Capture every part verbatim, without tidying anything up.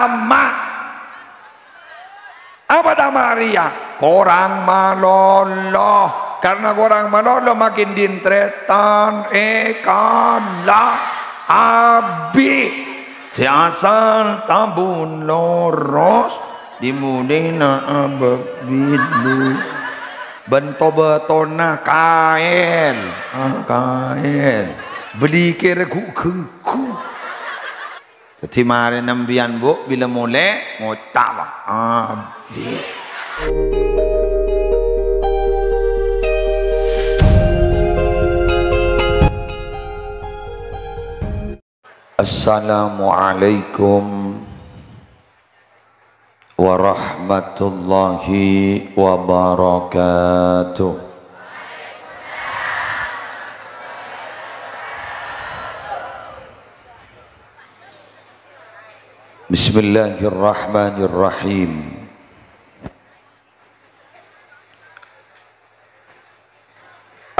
Ama'. Apa tama' rèya? Korang malolo. Karna korang malolo makin din-trètan èkala. Abi'. Sè asal tabun loros, dimulèna abâ' bilu. Bân to-bâtona kaèl. Ah, kaèl. Bâli kèra ghu-ghânggu. Dhâddhi marèna empèyan, Bu', bilâ molè ngoca', "Abdhi." Assalamualaikum warahmatullahi wabarakatuh. Bismillahirrahmanirrahim.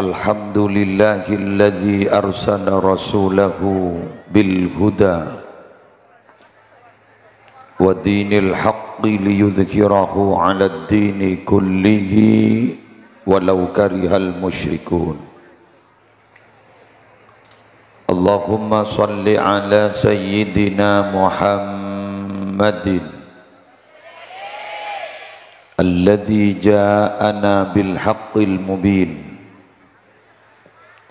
Alhamdulillahilladzi arsala rasulahu bil huda wa dinil haqqi liyudhhirahu 'alad dini kullihi walau karihal musyrikun. Allahumma shalli ala sayyidina Muhammadin alladzi ja'ana bil haqqil mubin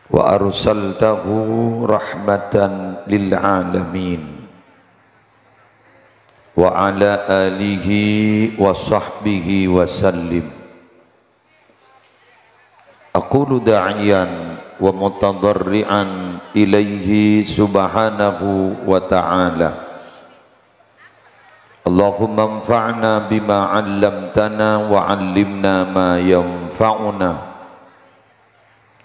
wa arsaltahu rahmatan lil alamin wa ala alihi wa sahbihi wa sallim. Aqulu da'iyan wa mutadharri'an ilaihi subhanahu wa ta'ala. Allahumma anfa'na bima 'allamtana wa 'allimna ma yanfa'una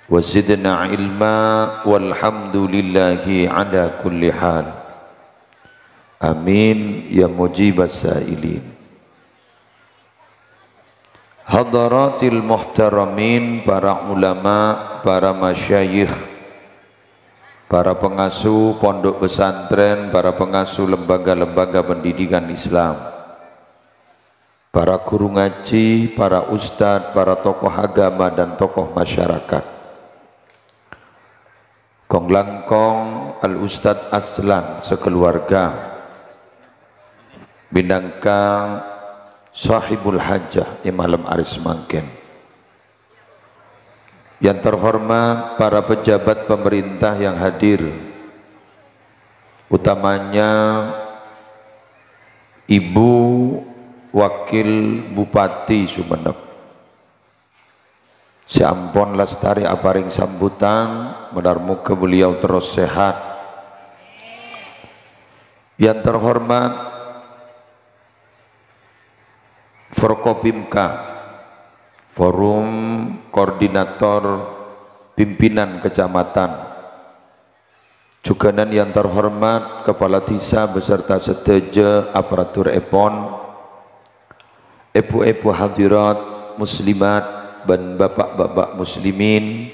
wa zidna ilma walhamdulillahi ala kulli hal. Amin ya mujibas sa'ilin. Hadaratil muhtaramin, para ulama, para masyayikh, para pengasuh pondok pesantren, para pengasuh lembaga-lembaga pendidikan Islam, para guru ngaji, para ustadz, para tokoh agama, dan tokoh masyarakat. Kong-langkong Al Ustadz Aslan sakeluarga minangka sahibul hajah è malem arè samangkèn. Yang terhormat para pejabat pemerintah yang hadir, utamanya Ibu Wakil Bupati Sumenep. Sè ampon lastarè aparèng sambutan, moghâ-moghâ beliau terros sehat. Yang terhormat Forkopimka, Forum Koordinator Pimpinan Kecamatan, Jhughânan yang terhormat Kepala Dhisa beserta sadhâjâ aparaturèpon, èbhu-èbhu hadirat muslimat bân bapa'-bapa' muslimin,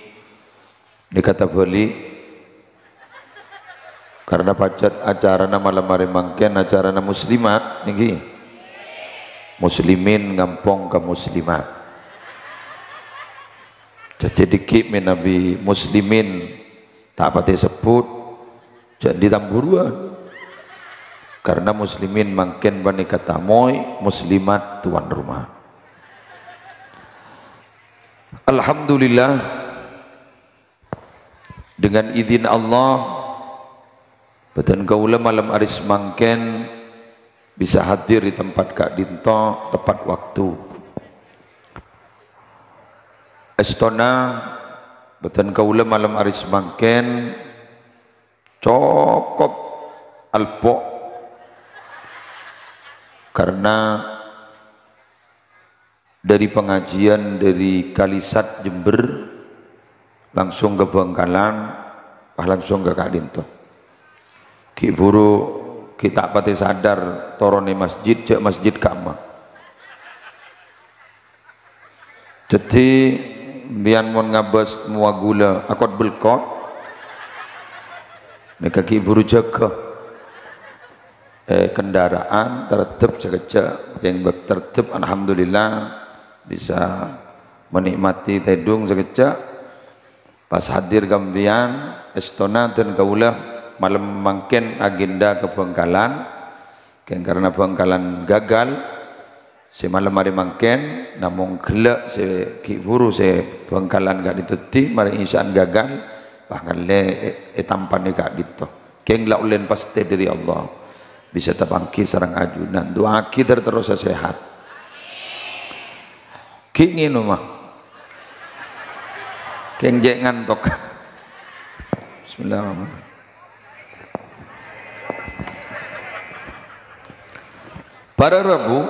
nèka tabâli', karna pajhât acarana malem arè mangkèn acarana muslimat, nèngghi? Muslimin ngampong ka muslimat. Dhâddhi dhiggi' mènabi muslimin ta' patè sebbhut, jhâ' andi' tamburuwân. Karna muslimin mangkèn panèka tamoy, muslimat tuan rumah. Alhamdulillah, dengan izin Allah, bâdân kaulâ malem arè samangkèn bisa hadir di tempat ka'dinto tepat waktu. Èstona bâdân kaulâ malem arè samangkèn cokop alpo', karna dari pengajian dari Kalisat Jember langsung ke Bangkalan, pas langsung ka ka'dinto. Ghi' buru ghi' ta' patè sadar toronè masjid, jhâ' masjid kamma. Dhâddhi, bi'en mon ngabâs mowa ghulâ akot-belkot, nèka ghi' buru jâgâ. eh, kendaraan, terdep sakejjhâ', kèng bâk terdep, alhamdulillah, bisa menikmati tèdung sakejjhâ'. Pas hadir ka sampèyan, èstona dân kaulâ malem mangkèn agenda ka Bhângkalan, kèng karena Bhângkalan gagal, sè malem arè mangkèn, namong ghellâ' sè ghi' bhuru sè Bhângkalan ka'dinto dhâddhi, marè isya'an gagal, pas ngallè è-, ètampanè ka'dinto. Kèng la ollèna pastè dâri Allah. Bisa tapangghi sareng ajunan. Du'aaghi ter-terrosa sehat. Ghi' ngènoma. Kèng cè' ngantok. Bismillahirrahmanirrahim. Para rabu,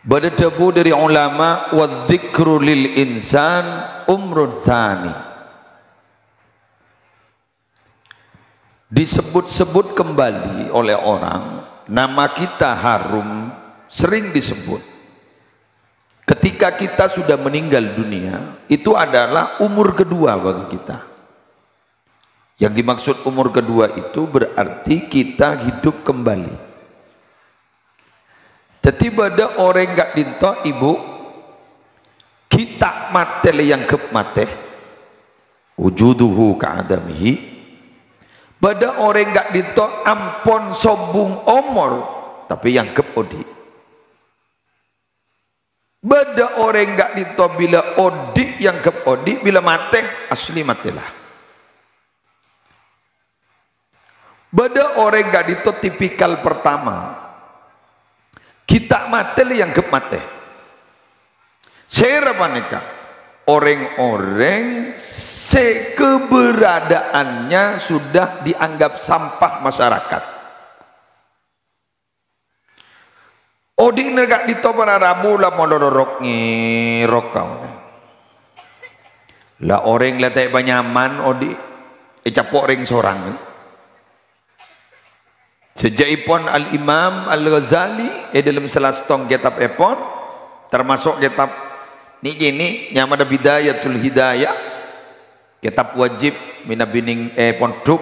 bâdâ dhâbu dâri ulama, "Wa dzikru lil insan umrun tsani." Disebut-sebut kembali oleh orang, nama kita harum, sering disebut. Ketika kita sudah meninggal dunia, itu adalah umur kedua bagi kita. Yang dimaksud umur kedua itu berarti kita hidup kembali. Dhâddhi bâdâ orèng ka'dinto, Ibu, ghi' ta' matè lè èangghep matè. Wujuduhu ka'adamihi. Bâdâ orèng ka'dinto ampon sobung omor, tapè èangghep odi'. Bâdâ orèng ka'dinto bilâ odi' èangghep odi', bilâ matè, asli matè la. Bâdâ orèng ka'dinto tipikal pertama. Ghi' ta' matè lè èangghep matè. Sèra panèka? Orèng-orèng sè keberadaannya sudah dianggap sampah masyarakat. Odi'na ka'dinto para rabu la molorok ngèrok kaulâ. La orèng la ta' èpanyaman odi' ècapo' rèng-sorang. Sajâ'èpon Al-Imam Al-Ghazali è dâlem sala sèttong kètabbhèpon, tamaso' kètab nè'-kènè' nyamana Bidayatul Hidayah, kètab wajib mènabi nèng è pondhuk.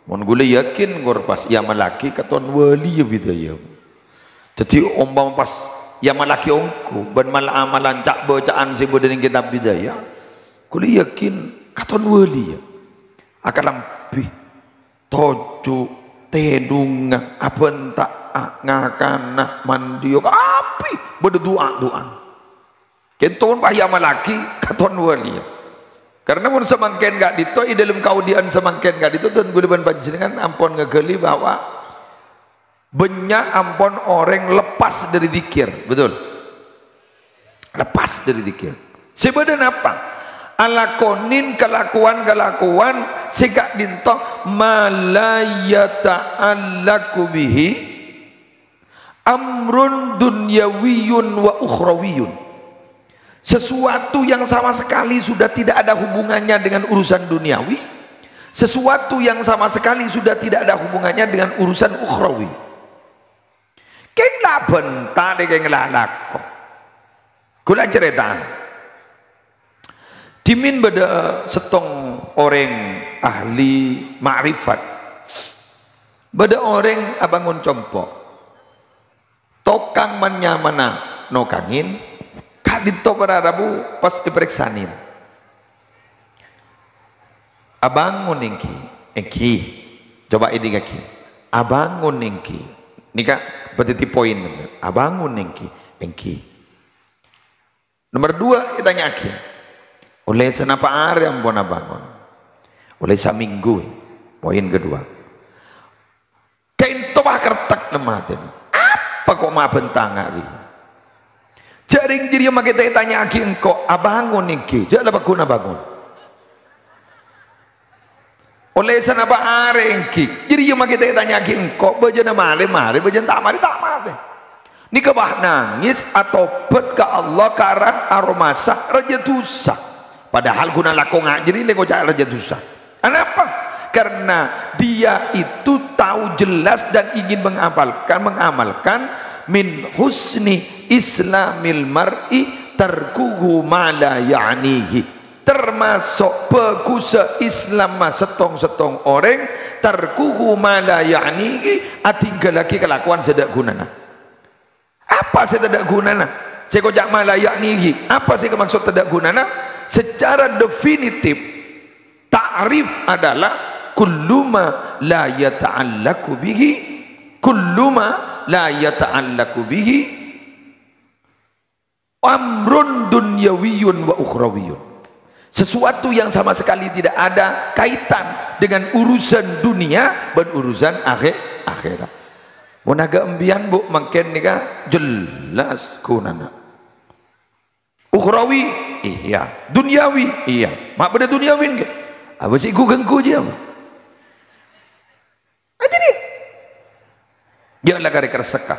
Mon ghulâ yakin, kor pas èamallaghi katon wali ya Bidayah. Dhâddhi, ompama pas èamallaghi ongghu bân mal-amalan ca'-bâca'an sè bâdâ nèng kètab Bidayah, ghulâ yakin katon wali ya. Akalambhi, toju', tèdungnga, abhânta'a, ngakana, mandiyâ, kabbhi bâdâ du'a-du'ana. Kènto mon pas èamallaghi katon wali. Karena mon samangkèn ka'dinto, è dâlem kaodi'ân samangkèn ka'dinto, dân ghulâ bân panjhennengngan ampon ngaghâli bahwa bânnya' ampon orèng lepas dâri dzikir, betul? Lepas dâri dzikir. Sè bâdâ napa? Alakonin kalakowan-kalakowan sè ka'dinto ma la yata'allaqu bihi amrun dunyawiyyun wa ukhrawiyyun. Sesuatu yang sama sekali sudah tidak ada hubungannya dengan urusan duniawi, sesuatu yang sama sekali sudah tidak ada hubungannya dengan urusan ukhrawi. Kèng la bhânta dâ' kèng la lako. Ghulâ carèta. Dhimèn bâdâ sèttong orèng ahli ma'rifat. Bâdâ orèng abângon compo'. Tokang man-nyamana nokangè, ka'dinto para rabu pas èparèksanè. Abângon èngghi, èngghi. Coba èdingngaghi. Abângon èngghi. Nèka bâdâ dhâddhi poin. Abângon èngghi, èngghi. Nomer dua, ètanya'aghi, "Ollè sanapa arè ampon abângon?" "Ollè samènggu." Poin kedua. Ka'dinto pas kertek neng atèna. "Apa ko' ma' bhânta nga'rè?" Jhâ' rèng jârèya makè ta' ètanya'aghi engko', "Abângon èngghi?" Jhâ' la paggun abângon. Ollè sanapa arè èngghi? Jârèya makè ta' ètanya'aghi engko', bâjâna marè, marè, bâjâna ta' marè, ta' marè. Nèka pas nangès, atobhât ka Allah, ka arah aromasa, rajâ dhusa. Padahal ghun alako nga' jârèya lè ngoca' rajâ dhusa. Anapa? Karena dia itu tahu jelas dan ingin mengamalkan, mengamalkan min husni islamil mar'i tarkuhu ma la ya'nihi. Tamaso' bhâghussa Islamma sèttong-sèttong orèng, Tarkuhu ma la ya'nihi, adhinggallaghi kalakowan sè tadâ' ghunana. Apa sè tadâ' ghunana? Sè koca' ma la ya'nihi. Apa sè èmaksod tadâ' ghunana? Secara definitif, ta'rif adalah kullu ma la yata'allaqu bihi, kullu ma la yata'allaqu bihi amrun dunyawiyyun wa ukhrawiyyun. Sesuatu yang sama sekali tidak ada kaitan dengan urusan dunia bân urusan akhè-, akhèrat. Mon aghâ' empiyan, Bu, mangkèn nèka jelas ghunana. Ukhrawi, iyâ. Dunyawi, iyâ. Ma' bâdâ dunyawi, ngghi. Apa sè ghu-ghânggu jiyâ, Bu? Aja dia. Dia la karè karessekka.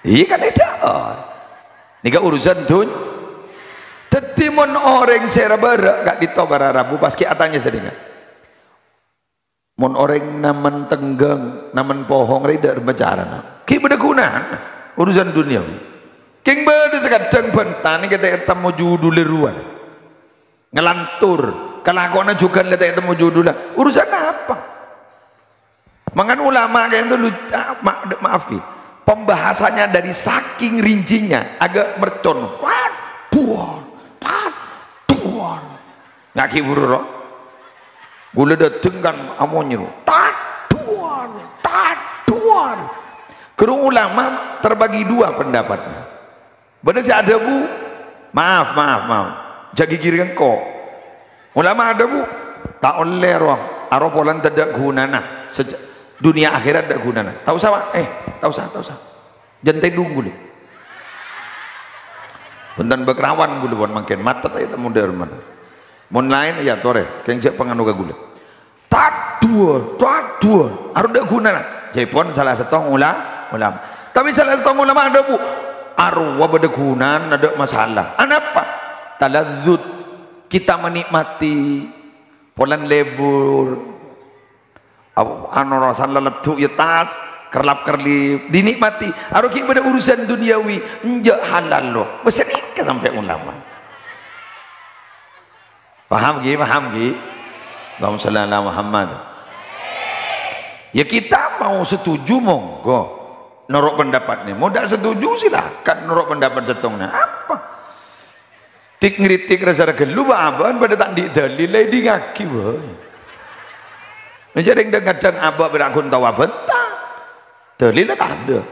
Iyâ kan, bhidhâ. Nèka urusan dun-, dhâddhi mon orèng sè ra-bârâ' ka'dinto para rabu pas ghi' atanya sè dhingghâl. Mon orèng namen tengghâng, namen pohong rè dâ' remma carana. Ghi' bâdâ ghunana urusan dunyawi. Kèng bâdâ sè kadhâng bhântanè kèta' ètemmo judhulla rowa. Ngelantur, kalakowanna jhughân la ta' ètemmo judhulla. Urusan apa? Mangkana ulama ka'dinto lu-, ah, ma-, maaf, Ki. Pembahasannya dari saking rincinya agak mercon. Waduh, waduh. Ngaki buru ro. Gula dateng kan amonye ro. Taduan, taduan. Guru ulama terbagi dua pendapatnya. Bâdâ sè adhâbu, "Maaf, maaf, maaf. Jhâ' ghighiri engko'." Ulama adhâbu, "Ta' ollè, ro. Aro polana tadâ' ghunana. Sej-, dunia akhirat tadâ' ghunana. Ta' osa, Pak. Eh, ta' osa, ta' osa. Jhân tèdung ghulâ. Bhunten bâkrawan ghulâ pon mangkèn. Matet aja ta' mondhâr mana. Mon laèn, ya torè. Kèng jhâ' panganu ka ghulâ." Taduwâ, taduwâ. Aro tadâ' ghunana. Jhâ' pon sala sèttong ula-, ulama. Tapè sala sèttong ulama adhâbu, "Arowa bâdâ ghunana, tadâ' masalah." Anapa? Taladzud. Kita menikmati polana lebur. Aw-, anu, rosan laleddhu' ya tas, kerlap-kerlip, dinikmati. Aro ghi' bâdâ urusan dunyawi, enjâ' halal lo. Bâ sanèka sampè' ulama. Paham, Ki? Paham, Ki? Allahumma shalli ala Muhammad. Ya, kita mau setuju, monggo. Noro' pendapatnya. Mau ndak setuju, silakan noro' pendapat sèttongnga. Apa? Tik-ngritik rasa ghâllu, bâ-abâ'ân padâ ta' andi' dalil, la èdingngaghi bhâi. Jhâ' rèng dhâng-kadhâng abâ' padâ ghun tao abhânta. Dalil la tadâ'.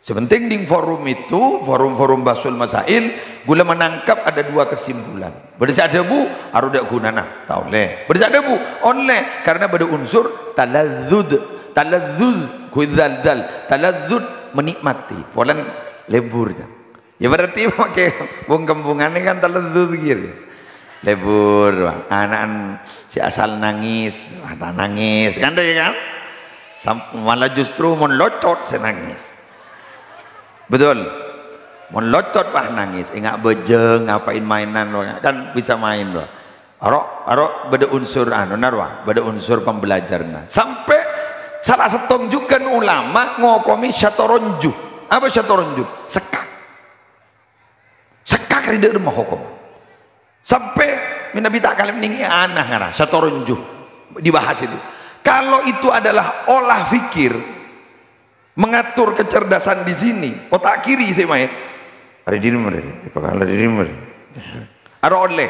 Sè penting di forum itu, forum-forum Bahsul Masail, ghulâ menangkap ada dua kesimpulan. Bâdâ sè adhâbu, aro tadâ' ghunana, ta' ollè. Bâdâ sè adhâbu, ollè, karena bâdâ unsur taladzud, taladzuz, ghuidzaldzal, taladzud, menikmati, polana lebur. Ya, berarti makè bung-kembungan ini kan taledzud gitu. Lebur, wah, ana'na sè asal nangis, wah, ta' nangis, kan, ya kan? Sam-, malah justru mon locot sè nangis. Betul? Mon locot, wah, nangis, enga' bâjâng, ngapain mainan, wah, kan bisa main, wah. Aro, aro bâdâ unsur anu, narwa, bâdâ unsur pembelajaranna. Sampè' sala sèttong jhughân ulama ngokomi syatoronju. Apa syatoronju? Sekkak. Sekkak rè dâ' remma hokom. Sampè' mènabi ta' kalèp nèngè ana ngara, syatoronju dibahas itu. Kalau itu adalah olah fikir, mengatur kecerdasan di sini, otak kiri sè maèn. Arè diri mrè, epakala diri mrè. Aro ollè.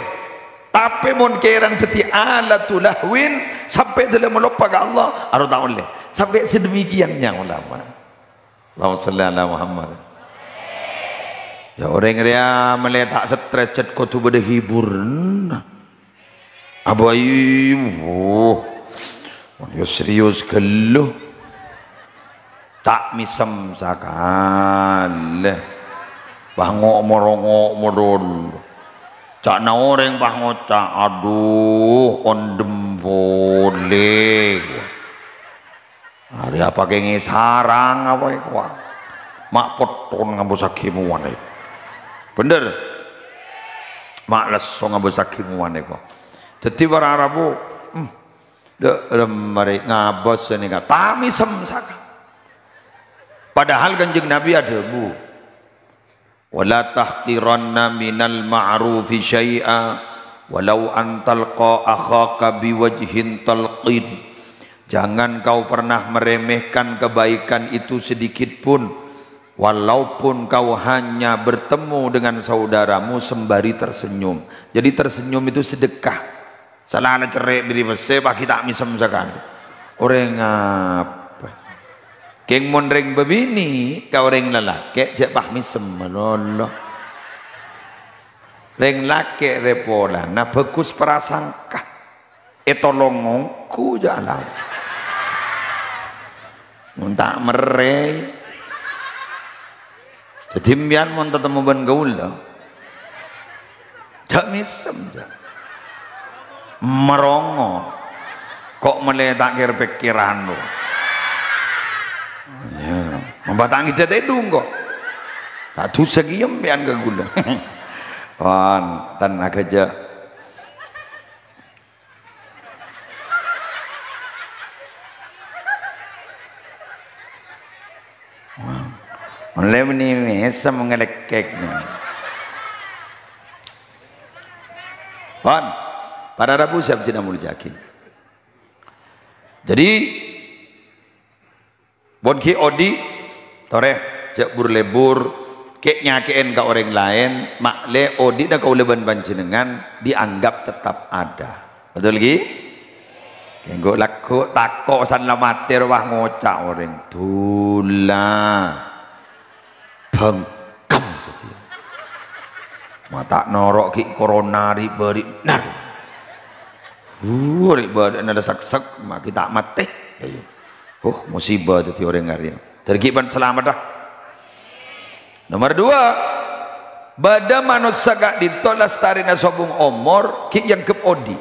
Tapè mon kèran dhâddhi alatu lahwin, sampè' dâlem maloppa ka Allah, aro ta' ollè. Sampè' sedemikiannya ulama. Allahumma shalli ala Muhammad. Ya, orèng rèya mèlè ta' stres, cè' kodhu bâdâ hiburanna. Abâi, wuh, mon ya serius ghâllu. Ta' mèsem sakalè. Bâ ngo'-, morongo' modol. Ca'na orèng bâ ngoca', "Adhu, ondhem polè." Arèya apa kèngèng sarang apa èkowa? Ma' potton ngambu saghi mowana èko. Bhender? Ma' lesso ngambu saghi mowana èko. Dhâddhi para rabu, hmm, dâ-, dâ' marè ngabâs sè nèka. Ta' mèsem saka. Padahal Kanjeng Nabi adhâbu, "Wa la tahqiranna minal ma'rufi syai'a, "Walau an talqa akhaka biwajhin talqin." Jangan kau pernah meremehkan kebaikan itu sedikit pun, walaupun kau hanya bertemu dengan saudaramu sembari tersenyum. Jadi tersenyum itu sedekah. Sala la cerrè' bâri' pèssè, paghi ta' mèsem sakalè. Orèng apa? Kèng mon rèng bâbinè' ka orèng lalakè', jhâ' pas mèsem malolo. Rèng lakè' rè polana bhâghus prasangka. Ètolong ongghu jhâ' la. Mon ta' merrè. Dhâddhi, sampèyan mon tatemmo bân kaulâ, jhâ' mèsem, jhâ'. Marongo. Ko' mellè ta' kèr-pèkkèran, lo. Ya, mon bâ' ta' ngèdhâ tèdung, ko'. Ta' dhusa kèya sampèyan ka kaulâ. Pon, ten agâjâ. Ollè mènè mèsem ngalèkèk. Pon, para rabu sè abdhina molja'aghi. Jadi, pon ghi' odi', torè, jhâ' bur-lebur, kè'-nyakè'èn ka orèng laèn, ma'lè odi'na kaulâ bân panjhennengngan dianggap tetap ada. Betul, ghi? Kèng ghu' lagghu' tako' san la matè rowa ngoca' orèng, "Dhulâ. Bhângkem dhâddhi. Ma' ta' noro' ghi' corona ri'-bâri'na. Uh, ri'-bâri'na la sèksèk, ma' ghi' ta' matè." Ayo. Oh, musibah dhâddhi orèng arèya. Dhâddhi ghi' pan salamet, ah. Nomor dua, bâdâ manossa ka'dinto lastarèna sobung omor, ghi' èangghep odi'.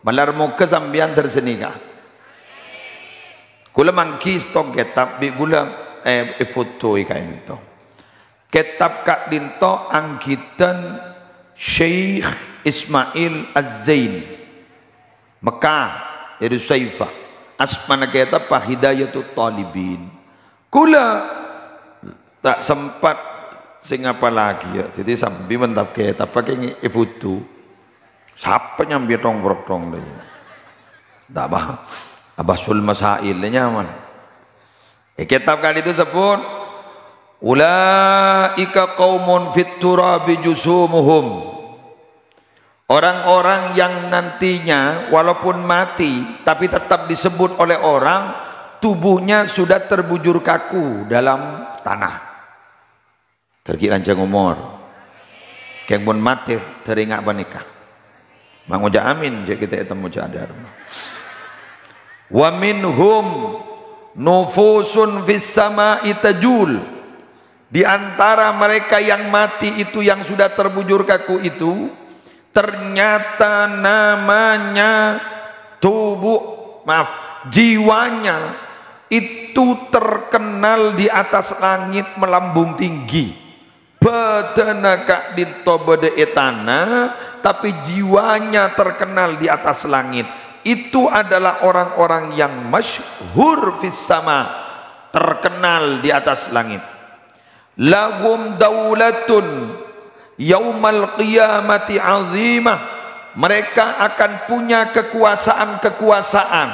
Malar moghâ sampèyan dhâr sanèka. Kaulâ mangghi sèttong kètab bi' kaulâ, eh, èfotoè ka'dinto. Kètab ka'dinto angghitan Syekh Ismail Az-Zain. Mekkah, Darussaifah. Asmana kètab Hidayatut Thalibin. Kaulâ ta' sempat sè ngapallaghi, ya. Dhâddhi sambi mantap kètab, paghi' èfoto. Sapa nyambi tong-protong lè? Ta' apa. Abahsul Masail lè nyaman. È kètab ka'dinto èsebbhut, "Ulaika qaumun fit turabi jusumuhum." Orang-orang yang nantinya walaupun mati, tapi tetap disebut oleh orang, tubuhnya sudah terbujur kaku dalam tanah. Dhâddhi lanjhâng omor. Kèng mon matè, dhâri nga' panèka. Mangoca' amin, jhâ' kita ètemmo jhâ' adhârma. "Wa minhum nufusun fis sama'i tajul." Di antara mereka yang mati itu, yang sudah terbujur kaku itu, ternyata namanya tubuh, maaf, jiwanya itu terkenal di atas langit melambung tinggi. Bâdâna ka'dinto bâdâ è tana, tapè jiwanya terkenal di atas langit. Itu adalah orang-orang yang masyhur fis sama, terkenal di atas langit. "Lahum daulatun yaumal qiyamati azimah." Mereka akan punya kekuasaan-kekuasaan,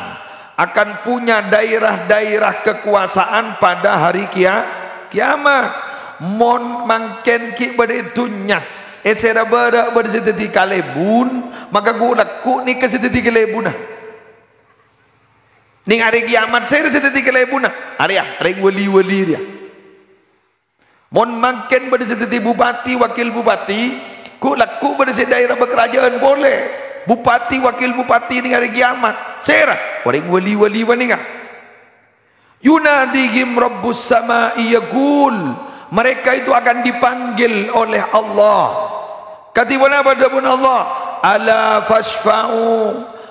akan punya daerah-daerah kekuasaan pada hari kia-, kiamat. Mon mangkèn ghi' bâdâ è dhunnya, è sèra bârâ' bâdâ sè dhâddhi kalèbun, maka ghu-, lagghu' nèka sè dhâddhi kalèbunna. Nèng arè kiamat, sèra sè dhâddhi kalèbunna? Arèya, rèng wali-wali rèya. Mon mangkèn bâdâ sè dhâddhi bupati, wakil bupati, ghu-, lagghu' bâdâ sè daerah bâkarajâ'ân polè. Bupati, wakil bupati nèng arè kiamat. Sèra? Orèng wali-wali panèka. "Yunadihim rabbus sama'i yaqul." Mereka itu akan dipanggil oleh Allah. Kadhi ponapa dhâbuna Allah? "Ala fasyfa'u."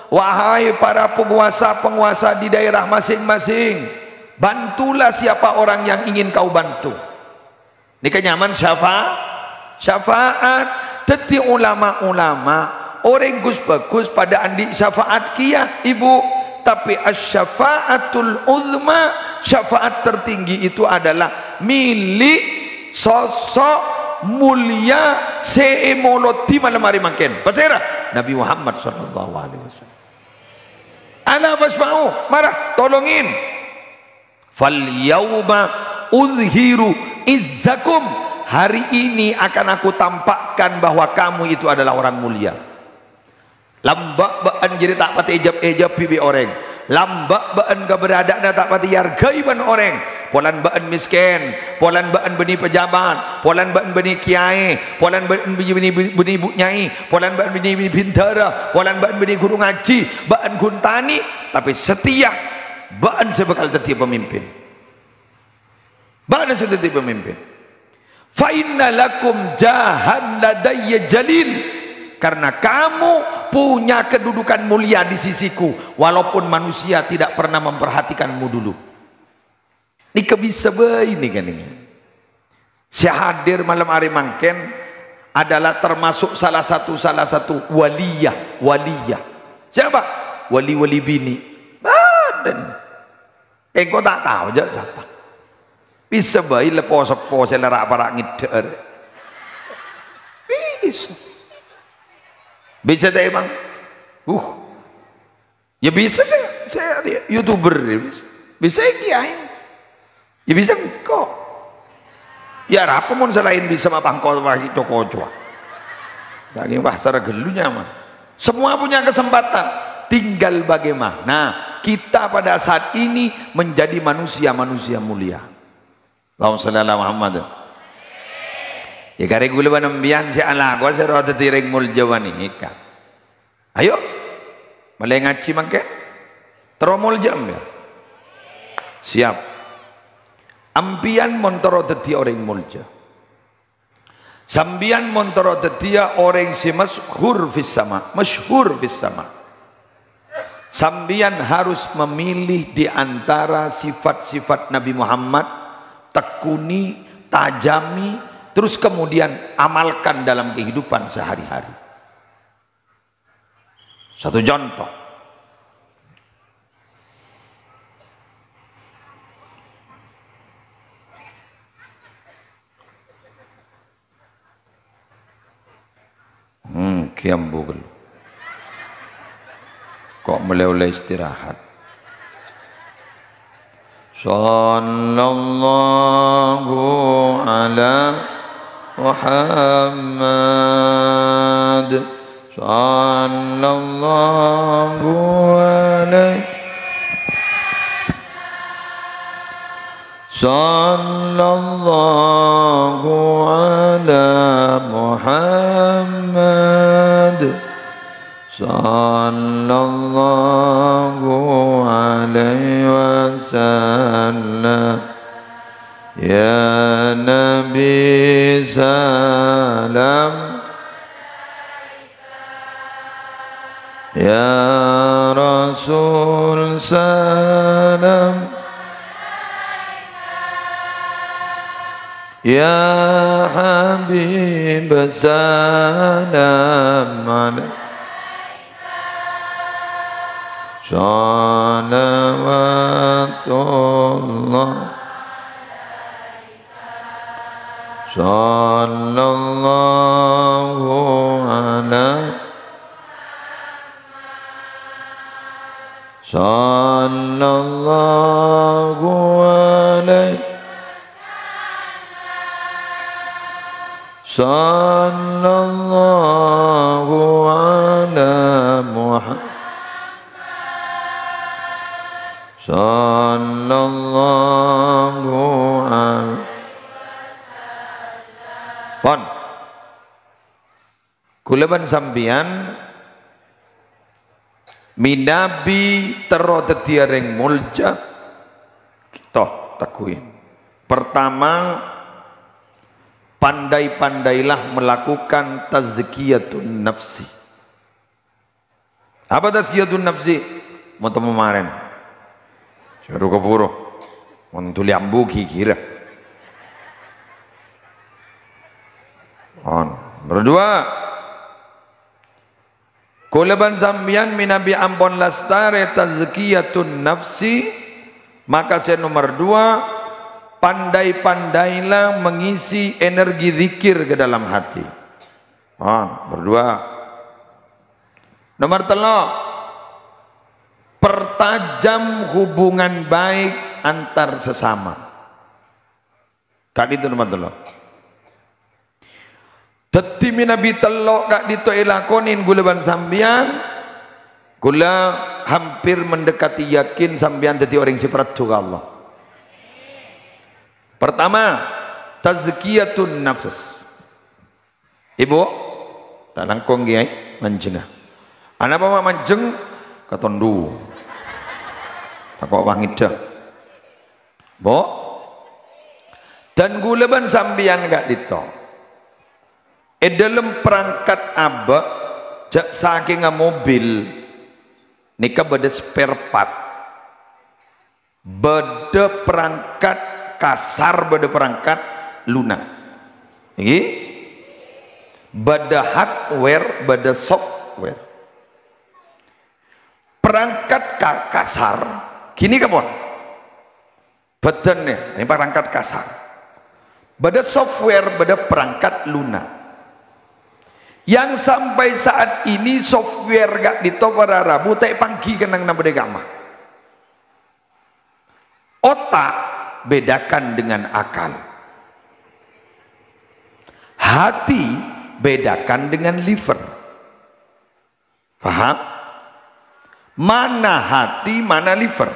Wahai para penguasa-penguasa di daerah masing-masing, bantulah siapa orang yang ingin kau bantu. Nèka nyaman syafa-, syafaat. Dhâddhi ulama-ulama, orèng ghus-bhâghus padâ andi' syafaat kèya, Ibu. Tapè asy-syafa'atul uzma, syafaat tertinggi itu adalah milik sosok mulia sè èmolodhi malem arè mangkèn. Pasèra? Nabi Muhammad sallallahu alaihi wasallam. "Ala fasyfa'u," mara tolongin. "Fal yauma uzhiru izzakum," hari ini akan aku tampakkan bahwa kamu itu adalah orang mulia. Lamba' bâ'ân jârèya ta' patè èjhâb-èjhâbbhi bi' orèng. Lamba' bâ'ân kabârâdâ'ânna ta' patè èarghâi bân orèng. Polana bâ'ân mèskèn, polana bâ'ân bânnè pajhâbhât, polana bâ'ân bânnè kèyaè, polana bâ'ân bânnè, bânnè, bânnè bu nyai, polana bâ'ân bânnè, bânnè bhindhârâ, polana bâ'ân bânnè ghuru ngajhi, bâ'ân ghun tanè, tapè satèya bâ'ân sè bhâkal dhâddhiyâ pamimpin. Bâ'ân sè dhâddhi pamimpin. "Fa inna lakum jahan ladayya jalil." Karena kamu punya kedudukan mulia di sisiku, walaupun manusia tidak pernah memperhatikanmu dulu. Nèka bisa bhâi nèka, nèka. Sè hadir malem arè mangkèn adalah termasuk salah satu, salah satu waliyah, waliyah. Siapa? Wali-wali binè'. Bâdân. Engko' ta' tao jâ' sapa. Bisa bhâi la po-seppo sè la ra'-para' ngèddhâ' arè. Bisa. Bisa ta' emang? Uh. Ya bisa sè, sè YouTuber ya bisa. Bisa kèyaè. Ya bisa engko'. Ya arapa mon sè laèn bisa mapangko wahi co-kocoa. Daging wah sara ghâllu nyaman. Semua punya kesempatan. Tinggal bagaimana kita pada saat ini menjadi manusia-manusia mulia. Allahumma shalli ala Muhammad. Ya karè ghulâ bân sampèyan sè alako sè rowa dhâddhi rèng molja panèka. Ayo, molaè ngajhi mangkèn. Terro molja sampèyan. Siap. Sampèyan mon terro dhâddhi orèng molja. Sampèyan mon terro dhâddhiyâ orèng sè masyhur fis sama, masyhur fis sama. Sampèyan harus memilih di antara sifat-sifat Nabi Muhammad, tekuni, tajami, terus kemudian amalkan dalam kehidupan sehari-hari. Satu contoh. Hmm, kèya ambu ghâllu. Ko' mèlè ollè istirahat. Sallallahu ala Muhammad. Sallallahu alaihi. Sallallahu ala Muhammad. Sallallahu alaihi wasallam. Ya Nabi salam. Ya Rasul salam. Ya Habib salam alaik. Salawatullah. Sallallahu ala. Sallallahu alaihi. Sallallahu ala Muhammad. Sallallahu alaihi. Pon. Kaulâ bân sampèyan mènabi terro dhâddhiyâ rèng molja, toh, tegghuwi. Pertama, pandai-pandailah melakukan tazkiyatun nafsi. Apa tazkiyatun nafsi? Mon temmo marèn. Sè ro kabhuru. Mon dhuli ambu ghighirâ. On. Nomor dua. Kaulâ bân sampèyan mènabi ampon lastarè tazkiyatun nafsi, maka sè nomor dua, pandai-pandailah mengisi energi zikir ke dalam hati. On. Nomor dua. Nomor tello', pertajam hubungan baik antar sesama. Ka'dinto nomor tello'. Dhâddhi mènabi tello' ka'dinto èlakonè ghulâ bân sampèyan, ghulâ hampir mendekati yakin sampèyan dhâddhi orèng sè parlo ka Allah. Pertama, tazkiyatun nafs. Ibu, ta' langkong, Kèyaè, manjhengnga. Anapa ma' manjheng? Katondu. Tako' pangèddhâ. Bu, dan ghulâ bân sampèyan ka'dinto. È dhâlem perangkat abâ', jhâ' sakènga mobil, nèka bâdâ spare part. Bâdâ perangkat kasar, bâdâ perangkat luna'. Èngghi? Bâdâ hardware, bâdâ software. Perangkat ka-, kasar, ghânèka pon. Bhâdhân nè, nè perangkat kasar. Bâdâ software, bâdâ perangkat luna'. Yang sampai saat ini software ka'dinto para rabu ta' èpangghi kennengnganna bâdâ è ka'emma. Otak bedakan dengan akal. Hati bedakan dengan liver. Paham? Mana hati, mana liver?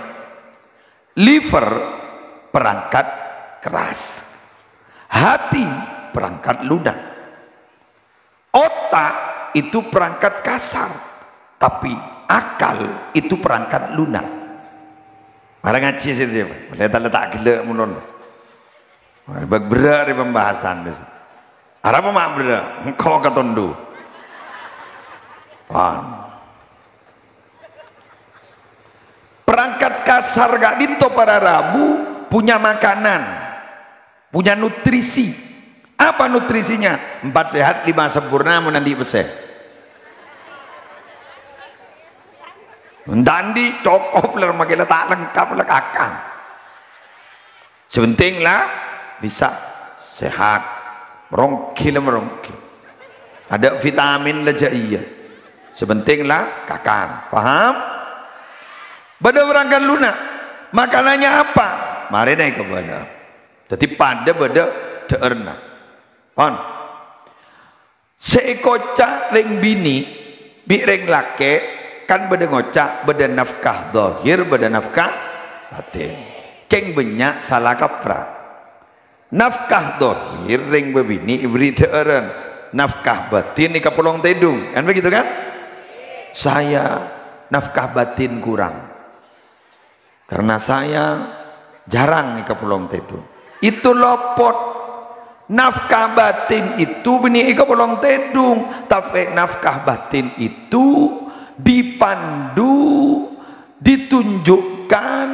Liver perangkat keras. Hati perangkat lunak. Otak itu perangkat kasar, tapi akal itu perangkat lunak. Mara ngajhi sè dhiyâ, leta-leta ghellâ' mon. Bâk berrâ' rè pembahasan. Arapa ma' berrâ'? Engko' katondu. Wan. Perangkat kasar ka'dinto para rabu punya makanan, punya nutrisi. Apa nutrisinya? Empat sehat, lima sempurna, mon andi' pèssè. Mon ta' andi', cokop la, makè la ta' lengkap la kakan. Sè pentèng la bisa sehat, maronggi la maronggi. Adâ' vitamin la jâ' iyâ. Sè pentèng la kakan. Paham? Bâdâ perangkat lunak. Makanannya apa? Marèna èkabâlâ. Dhâddhi padâ bâdâ dhâ'ârna. Pon. Sè èkoca' rèng binè' bi' rèng lakè' kan bâdâ ngoca', bâdâ nafkah dhahir, bâdâ nafkah batin. Kèng bânnya' sala kaprah. Nafkah dhahir rèng bâbinè' èberri' dhâ'ârân. Nafkah batin èkapolong tèdung. Kan begitu, kan? Saya nafkah batin kurang. Karena saya jarang èkapolong tèdung. Itu lopot. Nafkah batin itu bânnè èkapolong tèdung, tapè nafkah batin itu dipandu, ditunjukkan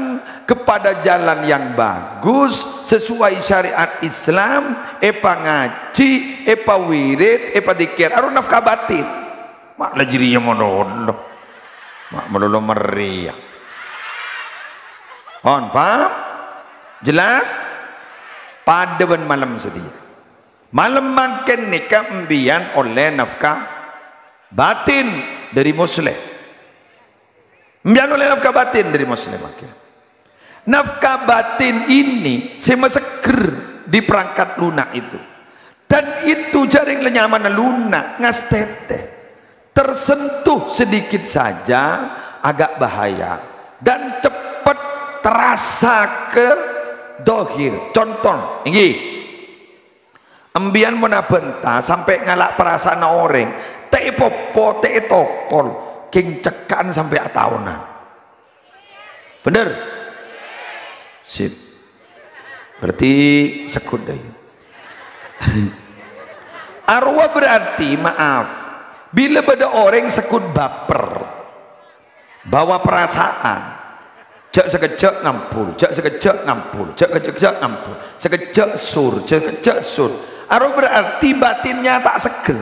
kepada jalan yang bagus, sesuai syariat Islam, èpangajhi, èpawirid, èpadzikir. Aro nafkah batin. Ma' la jârèya malolo. Ma' malolo marèya. Pon, paham? Jelas? Padâ bân malem sadhâjâ. Malem mangkèn nèka empèyan ollè nafkah batin dâri Muslim. Empèyan ollè nafkah batin dâri Muslim mangkèn. Nafkah batin ini sè maseggher di perangkat lunak itu. Dan itu jhâ' rèng la nyamana lunak, ngastètè. Tersentuh sedikit saja agak bahaya dan cepat terasa ke dohir. Contoh, èngghi. Empèyan mon abânta sampè' ngala' parasaanna orèng, ta' èpopo, ta' ètokol, kèng cekka'an sampè' ataonan. Bhender? Sip. Berarti segghut dâ' iyâ. Arowa berarti, maaf, bilâ bâdâ orèng segghut baper, bawa perasaan, jhâ' sakejjhâ' ngampol, jhâ' sakejjhâ' ngampol, jhâ' sakejjhâ' ngampol, sakejjhâ' sur, jhâ' sakejjhâ' sur. Arowa berarti batinnya ta' seggher.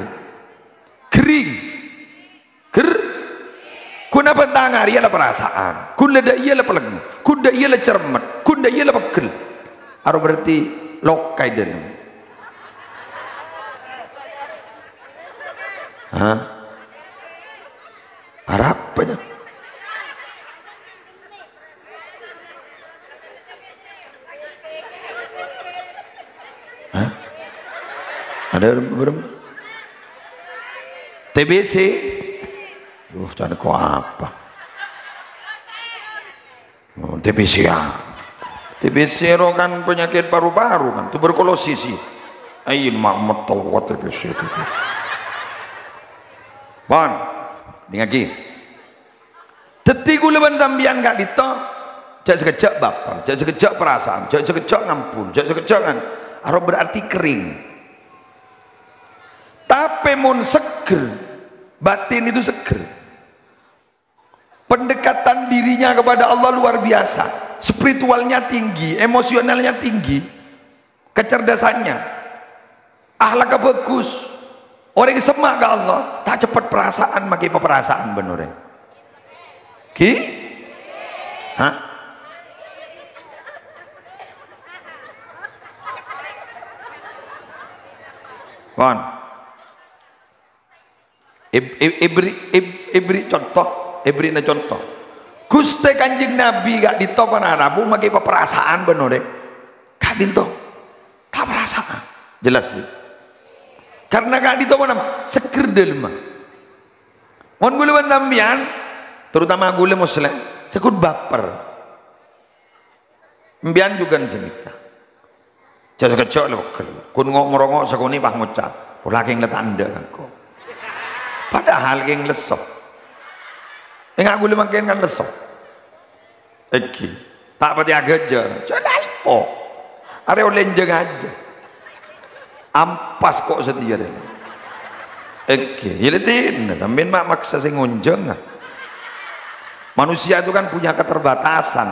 Ghering. Ger. Ghun abânta arèya la parasaan. Ghun la dâ' iyâ la palèng. Ghun dâ' iyâ la cermet. Ghun dâ' iyâ la pegghel. Arowa berarti loka è dâlem. Hah? Arapa, ya? Hah? Ada berem? T B C? Duh, can ko apa? Oh, T B C ya. T B C ro kan penyakit paru-paru kan, tuberkulosis sih. Ayo, mak, metowat T B C, T B C. Pon, dingagi. Dhâddhi kaulâ bân sampèyan ka'dinto, jhâ' sakejjhâ' baper, jhâ' sakejjhâ' perasaan, jhâ' sakejjhâ' ngampun, jhâ' sakejjhâ' ngan-, aro berarti kering. Tapè mon seger, batin itu seger. Pendekatan dirinya kepada Allah luar biasa. Spiritualnya tinggi, emosionalnya tinggi, kecerdasannya. Akhlaknya bagus. Orèng semma' ka Allah, ta' ceppet perasaan makè paperasaan bân orèng. Ghi? Hah? Pon. Eb-, eb-, ebri-, eb-, ebri conto, ebrina conto. Ghustè Kanjeng Nabi ka'dinto para rabu makè paperasaan bân orèng. Ka'dinto. Ta' perasaan. Jelas, Bu? Karena ka'dinto mana? Seger dâlemma. Mon kaulâ bân sampèyan, terutama kaulâ Muslim, sè ghun baper. Sampèyan jhughân sanèka. Jhâ' sakejjhâ' lè pegghel. Ghun ngo'-, morongo' sakonè' pas ngoca', "Pola kèng la ta' endâ' ka engko'." Padahal kèng lesso. Enga' kaulâ mangkèn kan lesso. Èngghi. Ta' patè aghâjâr. Jhâ' lalpo. Arè ollè enjâng ajâ. Ampas ko' satèya rè. Èngghi. Yâ lè dinna, sampèyan ma' maksa sè ngonjhâng. Manusia itu kan punya keterbatasan.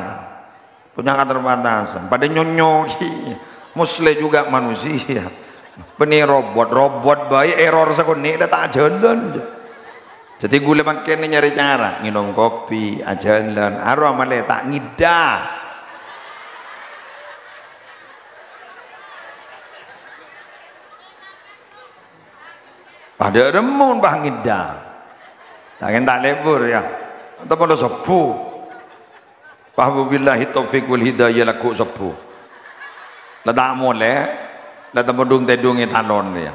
Punya keterbatasan. Padâ nyonyo, Muslim juga manusia. Bânnè robot, robot bhâi error sakonè' la ta' ajhâlân. Dhâddhi kaulâ mangkèn nyarè cara, ngènom kopi, ajhâlân, aro malè ta' ngèdhâ. Padâ remmun pas ngèdhâ. Ta' kèng ta' lebur, yâ. Atau padâ sobbhu. Wa billahi taufiq wal hidayah, lagghu' sobbhu. La ta' molè, la ta' modhung tèdhung è talon, yâ.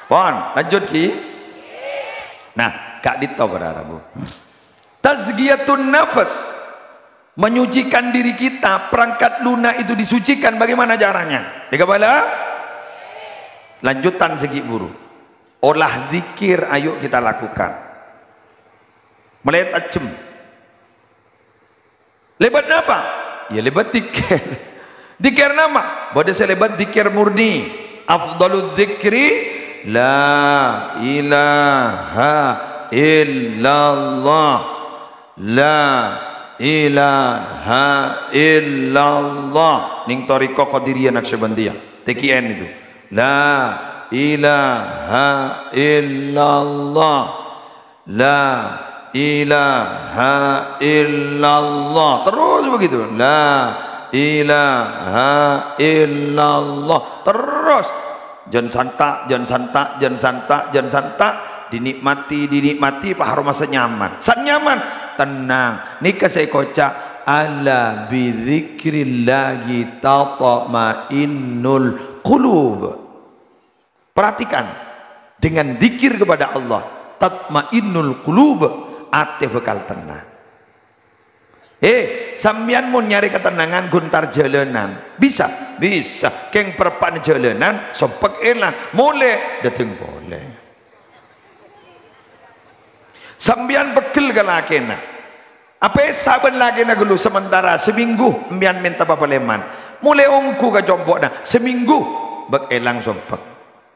Pon, lanjut, Ki. Nah, ka'dinto para rabu. Tazkiyatun nafas. Menyucikan diri kita, perangkat lunak itu disucikan. Bagaimana caranya? Èkabâlâ? Lanjutan sè ghi' buru. Olah zikir, ayo kita lakukan. Malè tajhem. Lèbât napa? Yâ lèbât dzikir. Dzikir napa? Bâdâ sè lèbât dzikir murni. Afdhaludz dzikri la ilaha illallah. La ilaha illallah. Ning Thariqah Qadiriyah Naqsyabandiyah. T Q N itu. La ilaha illallah. La ilaha illallah. Terus begitu. La ilaha illallah. Terus. Jhân santa', jhân santa', jhân santa', jhân santa'. Dinikmati, dinikmati, pas aromasa nyaman. San nyaman, tenang. Nèka sè èkoca', "Ala bidzikrillahi tatma'innul qulub." Perhatikan, dengan dzikir kepada Allah, tatma'innul qulub, atè bhâkal tenang. Eh, sampèyan mon nyarè katennangan ghun entar jhâlânan. Bisa? Bisa. Kèng parappa'na jhâlânan, sompek èlang. Molè, dâteng polè. Sampèyan pegghel ka lakèna. Apèsa bân lakèna ghâllu sementara samènggu sampèyan mènta papalèman. Molè ongghu ka compo'na, samènggu bâk èlang sompek.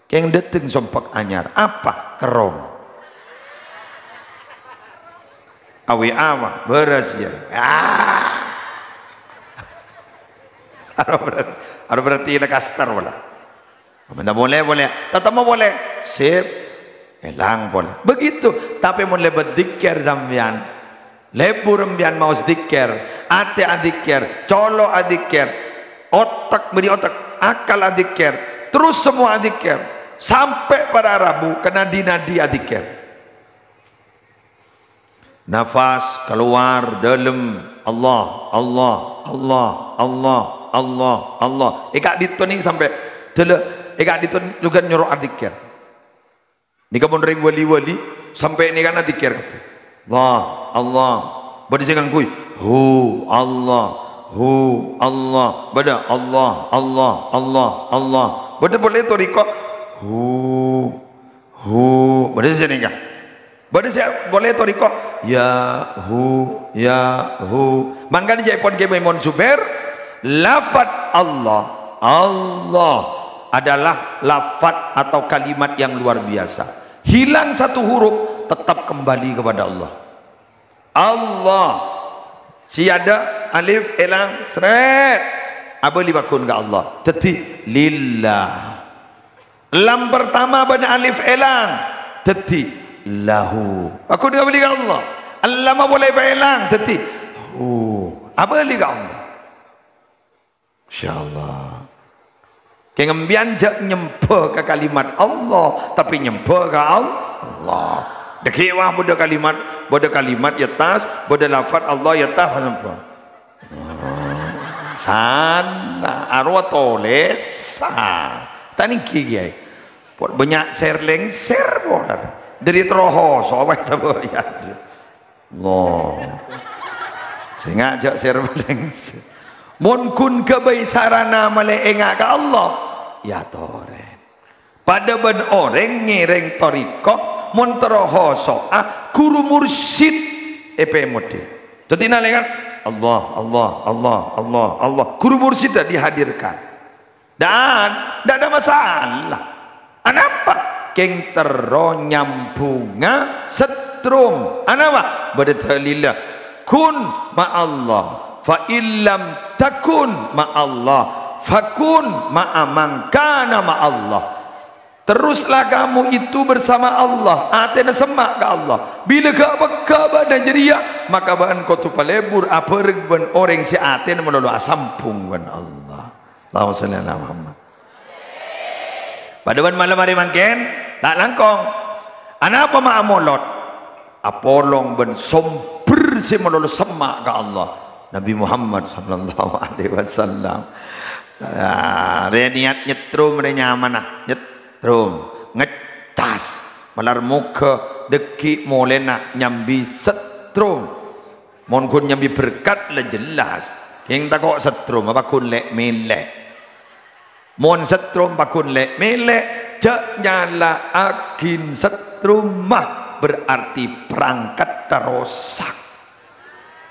Kèng dâteng sompek anyar. Apa? Kerrong. Awi awa, bârâs ya. Ah. Aro berarti, aro berarti la kastar wala. Mènta molè, molè. Tatemmo polè. Sip. Èlang polè. Begitu. Tapè mon lèbât dzikir sampèyan. Lebur sampèyan maos dzikir. Atè adzikir. Colo' adzikir. Otak, bânnè otak. Akal adzikir. Terus semua adzikir. Sampè' para rabu ka nadi-nadi adzikir. Nafas kalowar, dâlem. Allah, Allah, Allah, Allah, Allah, Allah. È ka'dinto nèka sampè' dâlâ, è ka'dinto jhughân nyoro adzikir. Nèka mon rèng wali-wali, sampè' nèka kan adzikir kabbhi. Allah, Allah. Bâdâ sè ngangghuy, hu, Allah, hu, Allah. Bâdâ Allah, Allah, Allah, Allah. Bâdâ polè torèko, hu, hu. Bâdâ sè nèka. Bâdâ sè polè torèko, ya, hu, ya, hu. Mangkana ca'èpon Kè Maimun Zubair, lafat Allah, Allah adalah lafat atau kalimat yang luar biasa. Hilang satu huruf, tetap kembali kepada Allah. Allah. Sè adâ' alif èlang, sret. Abâli pagghun ka Allah. Dhâddhi, lillah. Lam pertama bân alif èlang. Dhâddhi, lahu. Pagghun abâli ka Allah. Lam polè èlang. Dhâddhi, hu. Abâli ka Allah. Masyaallah. Kèng sampèyan jhâ' nyembhâ ka kalimat Allah, tapè nyembhâ ka Al-, Allah. Dhâggi' wah bâdâ kalimat, bâdâ kalimat yâ tas, bâdâ lafat Allah yâ tas, napa? Sala, arowa tolèsan. Ta' nèngghi, Kèyaè. Pot bânnya' sèr-lèngsèr, pot. Dâri terro hoso, apa sapa ya? Allah. Sènga' jhâ' sèr-lèngsèr. Mon ghun ghâbây sarana malè enga' ka Allah, ya torè. Padâ bân orèng ngèrèng torèko, mon terro hoso'a, ghuru mursyid èpèmodhi. Dhâddhi nalèkana Allah, Allah, Allah, Allah, Allah, ghuru mursyidda dihadirkan. Dan, ndak ada masalah. Anapa? Kèng terro nyambhungnga setrum. Anapa? Bâdâ dalilla. Kun ma'allah. Fa illam takun ma'allah. Fakun ma'a man kana ma'allah. Teruslah kamu itu bersama Allah, atèna semma' ka Allah. Bilâ ghâ' pegghâ' bâ'na jârèya, maka bâ'na kodhu palebur abhâreng bân orèng sè atèna malolo asambhung bân Allah. Allahumma shalli ala Muhammad. Padâ bân malem arè mangkèn, ta' langkong. Anapa ma' amolot? Apolong bân sombher sè malolo semma' ka Allah. Nabi Muhammad sallallahu alaihi wasallam. Ah, rè niat nyetrum rè nyamana, nyetrum, ngecas. Malar moghâ dhâggi' molèna nyambi setrum. Mon ghun nyambi berkat la jelas. Kèng tako' setrum apa ghun lè'-mèlè'. Mon setrum pagghun lè'-mèlè', jhâ' nyala'aghin setrumma, berarti perangkatta rosak.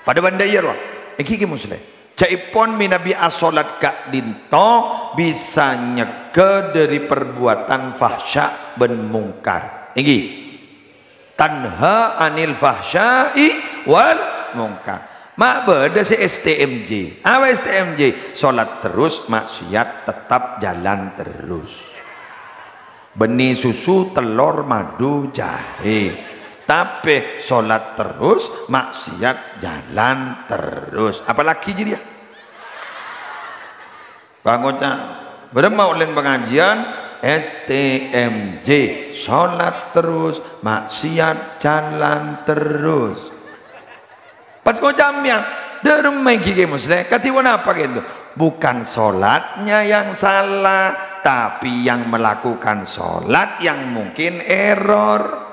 Padâ bân dâ' iyâ rowa, èngghi Kè Muslèh. Jhâ'èpon mènabi asholat ka'dinto bisa nyegghâ dâri perbuatan fahsya bân mungkar. Èngghi. Tanha 'anil fahsya'i wal munkar. Ma' bâdâ sè S T M J. Apa S T M J? Sholat terus, maksiat tetap jalan terus. Bânnè susu, tellor, madu, jahè. Tapè sholat terus, maksiat jalan terus. Apalagi jârèya? Pangoca', bârâmma ollèna pangajiân? S T M J, sholat terus, maksiat jalan terus. Pas ngoca' sampèyan, dâ' remma èngghi Kè Muslèh, kadhi ponapa ghânto? Bukan sholatnya yang salah, tapi yang melakukan sholat yang mungkin error.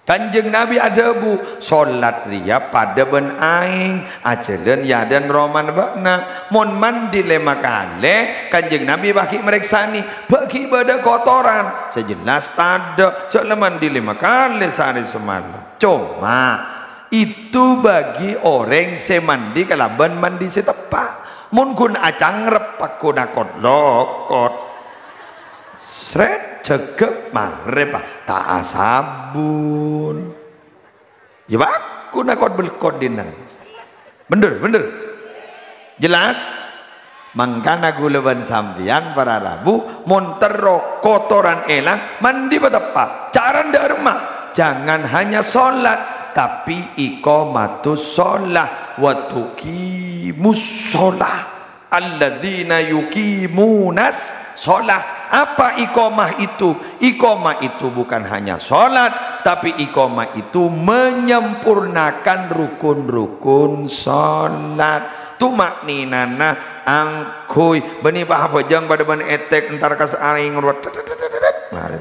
Kanjeng Nabi adhâbu, "Sholat rèya padâ bân aèng, ajhâlân è adâ'na romana bâ'na." Mon mandi lèma kalè, Kanjeng Nabi pas ghi' marèksanè, "Bâ' ghi' bâdâ kotoran?" Sè jelas tadâ', jhâ' la mandi lèma kalè saarè samalem. Coma, itu bagi orèng sè mandi kalabân mandi sè teppa'. Mon ghun acangrep, pagghun akot-lokot. Sret, jâgâ, marè, pa, ta' asabun. Yâ, pagghun akot-belkot dinna'. Bhender, bhender. Jelas? Mangkana ghulâ bân sampèyan para rabu, mon terro kotoran èlang, mandi pateppa'. Carana dâ' remma, jangan hanya sholat, tapi iqamatus sholah wa tuqimus sholah. Alladzina yuqimunas sholah. Apa iqamah itu? Iqamah itu bukan hanya sholat, Tapi iqamah itu menyempurnakan rukun-rukun salat. Tuma'ninana angghuy. Bânnè pa abhâjâng padâ bân ètèk entar ka saèng rowa. Marè.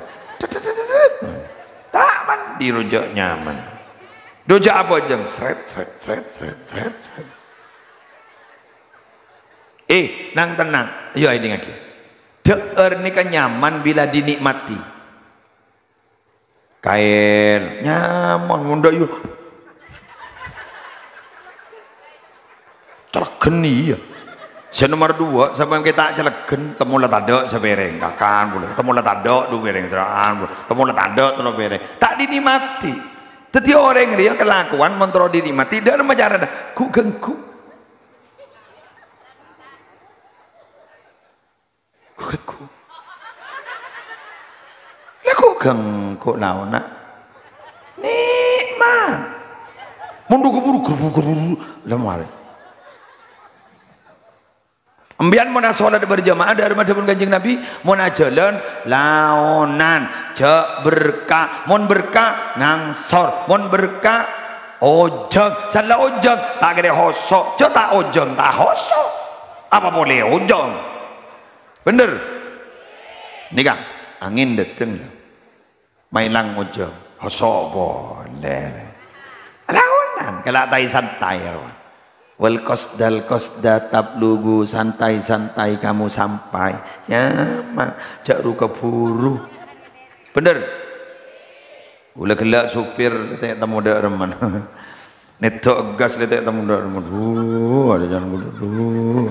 Ta' mandi rowa jhâ' nyaman. Rowa jhâ' abhâjâng. Sret, sret, sret, sret, sret, sret. Eh, nang-tennang. Ayo, èdingngaghi. Dhâ'âr nèka nyaman bilâ dinikmati. Kaèl, nyaman, mon dâ' yu. Cèlegghân iyâ. Sè nomer dua, sampè' ta' cèlegghân, temmo la tadâ' sapèrèng, kakan polè. Temmo la tadâ' du pèrèng, sera'an polè. Temmo la tadâ' tello pèrèng. Ta' dinikmati. Dhâddhi orèng rèya kalakowan mon terro dinikmati, dâ' remma carana? Ghu-ghângghu. Ghu-ghângghu. Lha ghu-ghângghu laona. Nikmat. Mon dhu-ghâburu, ghu-ghâburu, ghu-ghâburu. Lha marè. Empèyan mon asolat berjamaah, dâ' remma dhâbuna Kanjeng Nabi, mon ajhâlân, laonan, jhâ' berka'. Mon berka', ngangsor. Mon berka', ojhâng. Sala ojhâng, ta' kèra hoso'. Jhâ' ta' ojhâng, ta' hoso'. Apa polè ojhâng? Bhender? Nèka, angèn dâteng. Maèlang ojhâng, hoso' polè. Laonan, kala' tai-santai, rowa. Wal qasdal qasda tablughu, santai-santai kamu sampai. Nyaman, jhâ' ru-ghâburu. Bhender? Ghulâ ghellâ' supir, tè' temmo dâ' remman. Nèdhâ' gas lè tè' temmo dâ' remma. Duh, arè can ghulâ, duh.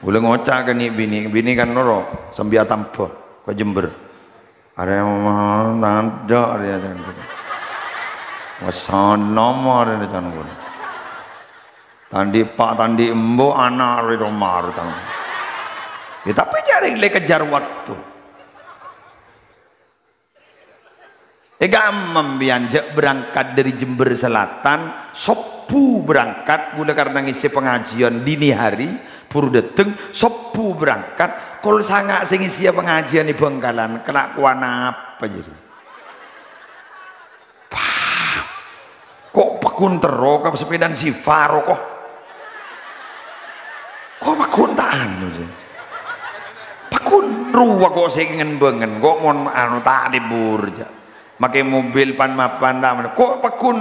Ghulâ ngoca' ka nè' binè, binè kan noro', sambi atamba ka Jember. Arè tadâ' arè can ghulâ. Wassalam arè can ghulâ. Tandhi' pa' tandhi' embu' ana' arè romar can. Ya, tapè jhâ' rèng lè kejar waktu. Èghâ' empèyan jhâ' berangkat dâri Jember Selatan, sobbhu berangkat, ghulâ karna ngèssè pangajiân dini hari, buru dâteng, sobbhu berangkat, kol sanga' sè ngèssèya pangajiân è Bhângkalan, kalakowan apa jârèya? Pah. Ko' pagghun terro ka sepèdana si Faruk, ko'? Ko' pagghun ta' anu, sih. Pagghun rowa ko' sè ngen-bângen, ko' mon anu ta' lebur, jhâ'. Makè mobil pan-mapan ta' men-, ko' pagghun,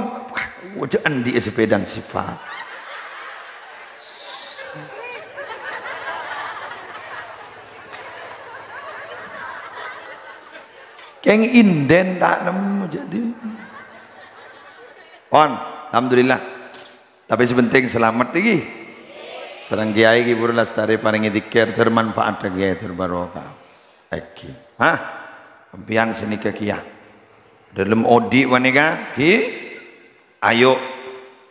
jhâ' andi'â sepèdana si Faruk. Kèng inden ta' nemmo jadi. Pon, alhamdulillah. Tapè sè penting salamet iki. Sareng Kèyaè iki pura lastarè parèngè dzikir, termanfaat Kèyaè, terbarokah. Èngghi. Hah? Sampèyan sanèka kèya. Dâlem odi' panèka, ghi? Ayo,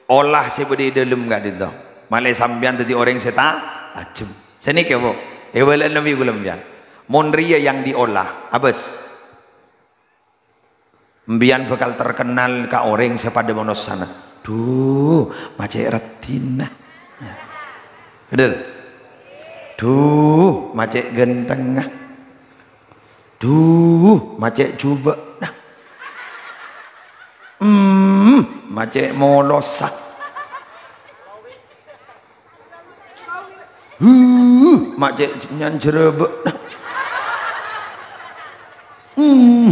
olah sè bâdâ è dâlem ka'dinto. Malè sampèyan dhâddhi orèng sè ta-, tajhem. Sanèka, Bu. Èbâlâ'â Nabi ghulâ sampèyan. Mon rèya yang diolah, abâs. Sampèyan bhâkal terkenal ka orèng sè padâ manossana. Duh, ma' cè' raddhinna. Bhender? Duh, ma' cè' ghântengnga. Duh, ma' cè' jhubâ'na. Hmm, ma' cè' molossa. Huh, ma' cè' nyan jhârâbâ'na. Hmm.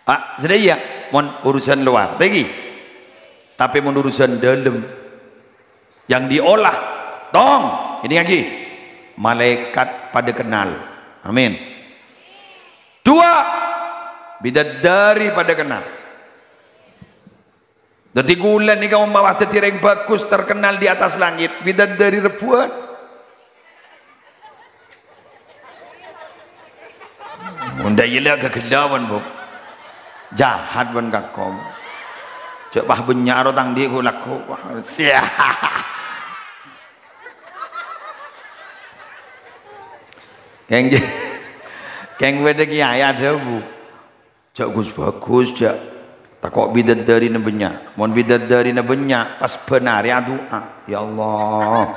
Ah, sadhâjâ, mon urusan luar, tèngghi. Tapè mon urusan dâlem, yang diolah, tong, èdingngaghi. Malaèkat padâ kennal. Amin. Dua, bidadari padâ kennal. Dhâddhi ghulâ nèka omma' pas dhâddhi rèng bhâghus terkenal di atas langit, bidadari rebbhuwân. Mon dâ' iyâ la ghâghellâ bân, Bu. Jahat bân kako. Jhâ' pas bânnya' ro tang dhi' ghu-, lagghu'. Wah, sia. Kèng, kèng bâdâ kèyaè adhâbu. Jhâ' ghus-bhâghus, jhâ'. Tako' bidaddarina bânnya'. Mon bidaddarina bânnya', pas bân arè adu'a, "Ya Allah,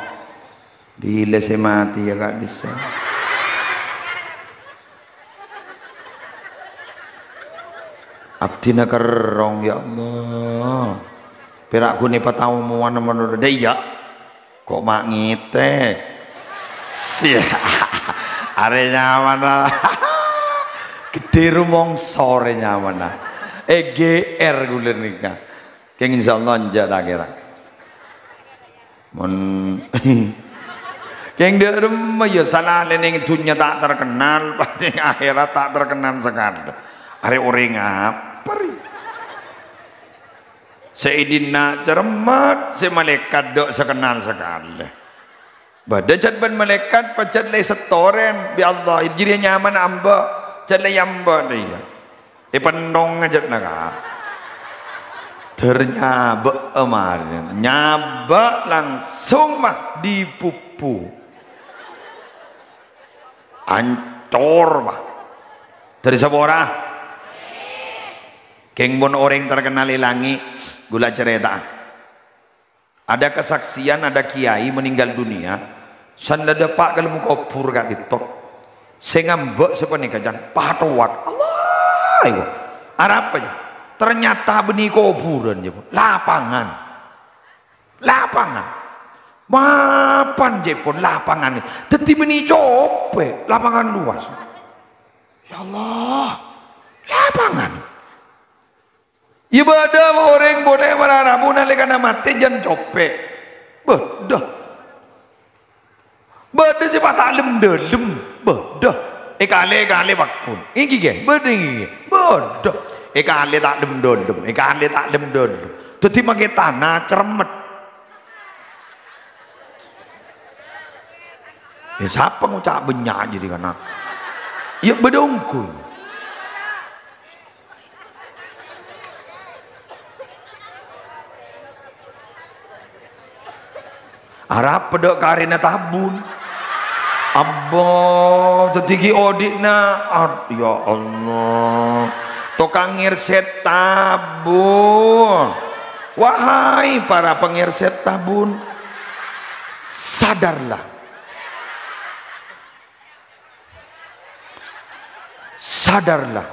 bilâ sè matè, ya, ka'dissa'?" Abdhina kerrong, ya Allah. Pèra' ghun èpataomowan manoto. Dâ' iyâ. Kok ma' ngètèk. Sia. Arè nyamana. Ghedhè rumangsa arè nyamana. È G R ghulâ nèka. Kèng insyaallah enjâ' ta' kèra. Mon kèng dâ' remma ya salanèng dhunnya ta' terkenal, pas neng akhèrat ta' terkenal sakalè. Arè orèng apa rè? Sè è dinna' cerremmet, sè malaèkat dâ' sakennal sakalè. Bâdâ jhât bân malaèkat pajhât la èsètorèn bi' Allah, jârèya nyamana amba', jhât la èamba' dâ' iyâ. Èpèntong ajâ naka. Dâr nyabâ'â marèna. Nyabâ' langsung, mah, dipuppu. Ancor, mah. Dâri sapora? Kèng mon orèng terkenal è langngè', ghulâ carèta'a. Ada kesaksian, ada kiai meninggal dunia, san la dâpa' ka dâlem kobhur ka'dinto. Sè ngambâ' sapanèka, can, patowat. Allah, iku. Arapa, ya? Ternyata bânnè kobhurân, ya, lapangan. Lapangan. Mapan, jâ' pon lapangan. Dhâddhi bânnè copè', lapangan luas. Ya Allah, lapangan. Iyâ bâdâ orèng polè mara rabu nalèkana matè jân copè'. Bâdâ. Bâdâ sè pas ta' lem-dâlem. Bâdâ. Èkalè-kalè pagghun. Èngghi, ghi? Bâdâ, èngghi, ghi? Bâdâ. Èkalè ta' lem-dâlem. Èkalè ta' lem-dâlem. Dhâddhi makè tana cerremmet. È, sapa ngoca' bânnya' jârèya kana'? Iyâ, bâdâ ongghu. Arapa dâ' karèna tabun? Abba, dhâddhi ghi' odi'na. Ad-, ya Allah. Tokang ngèrsèt tabun. Wahai para pengèrsèt tabun, sadarlah. Sadarlah.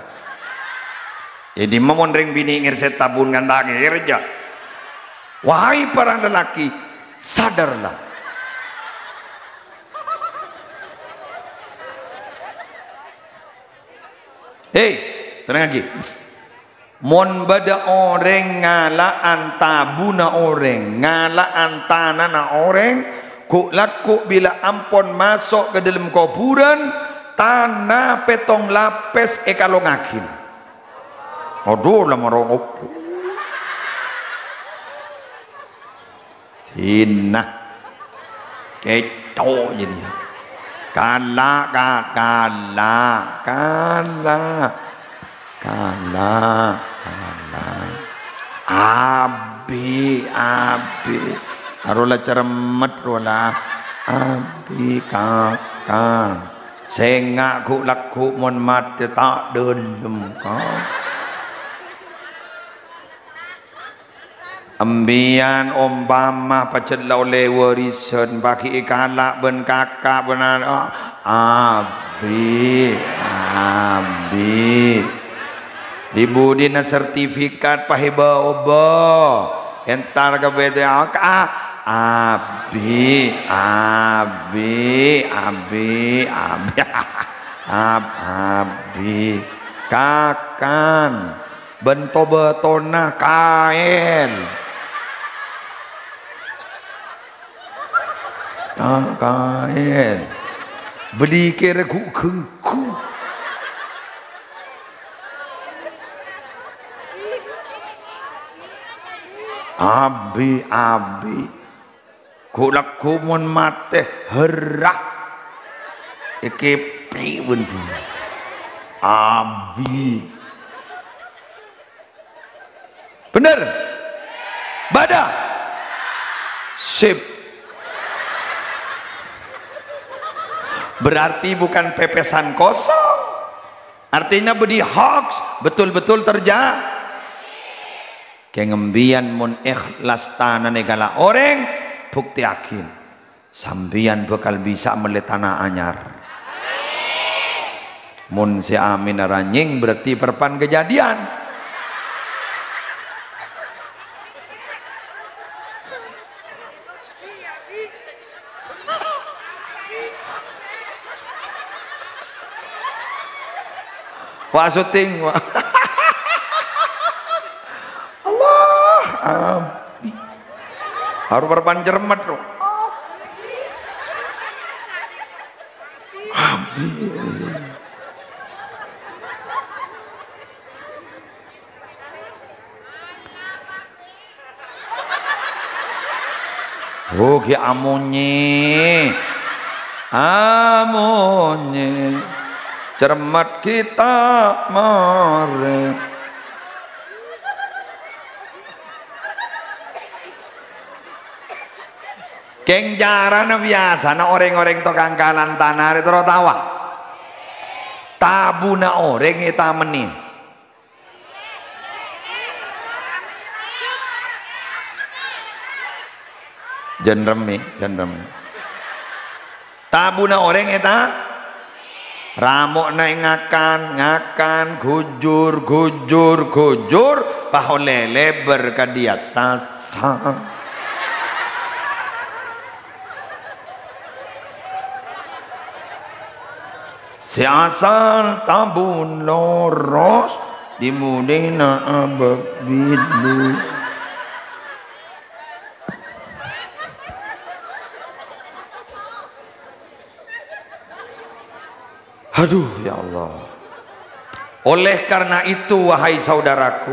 Jadi, mon rèng binè' ngèrsèt tabun kan ta' kèra, jâ'. Wahai para lelaki, sadarlah. Hei, tenang lagi. Mon bâdâ orèng ngala'an tabuna orèng, ngala'an tanana orèng, ghu'-lagghu' bilâ ampon maso' ka dâlem kobhurân, tana pèttong lapès èkalongngaghi. Adhu, la marongop. Dinah. Kèco' jârèya. Kala', ka-, kala', kala'. Kala', kala'. Abi, abi. Arowa la cerremmet rowa la. Abi, kaka. Sènga' ghu'-lagghu' mon matè ta' dâlem, ka. Embiyan ompama pajhât la ollè wârisân, paghi' èkala' bân kaka' bân ana', abi, abi. Di-budina sertifikat pahèba obâ, entar ka B T A, ka-, abi, abi, abi, abi. Ab-, abi. Kakan. Bân to-bâtona kaèl. Ka-, kaèl. Bâli kèra ghu-, ghângghu. Abi, abi. Ghu'-lagghu' mon matè, herra. Èkèpè' bân buru. Abi. Bhender? Bâdâ? Sip. Berarti bukan pepesan kosong. Artinya bâdâ hoax, betul-betul terja-, Kèng embiyan mon èhlas tanana èkala' orèng, buktèyaghi. Sampèyan bhâkal bisa mellè tana anyar. Mon sè amin aranyèng, berarti parpan kajhâdhiyân. Wa' syuting, wa'. Allah, abi. Harus berpan cermet, loh. Abi. Oh, ghi' amonye. Amonye. Cermet kita mare. Keng carana biyasana oreng-oreng tokang kalan tana rè terro tawa. Tabuna oreng ètamennè. Jân remmè, jân remmè. Tabuna orèng èta, ramo'na ngakan, ngakan, ghujur, ghujur, ghujur, pas ollè lèbâr ka di attas. Sè asal tabun loros, dimulina abâbilu. Aduh, ya Allah. Oleh karena itu, wahai saudaraku,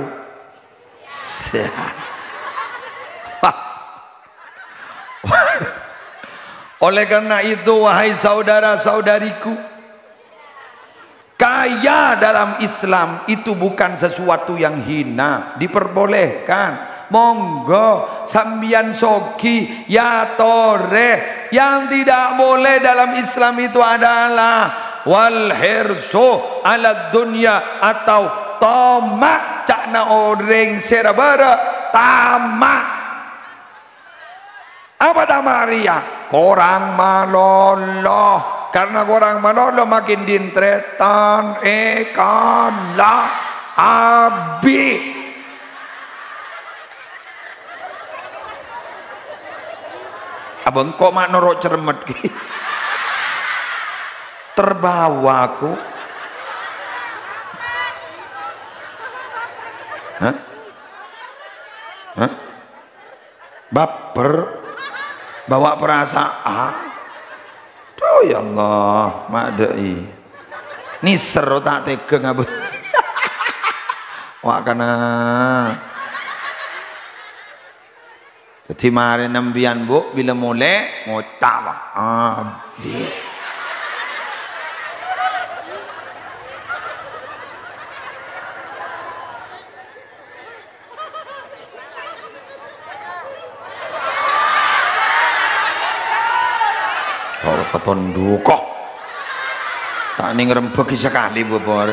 Oleh karena itu, wahai saudara-saudariku, kaya dalam Islam itu bukan sesuatu yang hina, diperbolehkan. Monggo, sambiyan sogi, ya torè. Yang tidak boleh dalam Islam itu adalah wal hirsu ala dunya atau toma', ca'na orèng sè ra-bârâ', tama'. Apa tama' rèya? Korang malolo. Karena korang malolo, makin dintrètan èkala abi. Abâ' engko' ma' noro' cermet ghi. Terbawa aku. Hah? Hah? Baper? Bawa perasaan? Duh, ya Allah, madâ'i. Nèser ta' tèghâ ngabâ. Wa' kana. Dhâddhi marèna sampèyan, Bu, bilâ molè, ngoca', wa'. Abi. Oh, katon duko. Ta' nèng rembâghi sakalè, Bu, Bu. Ah,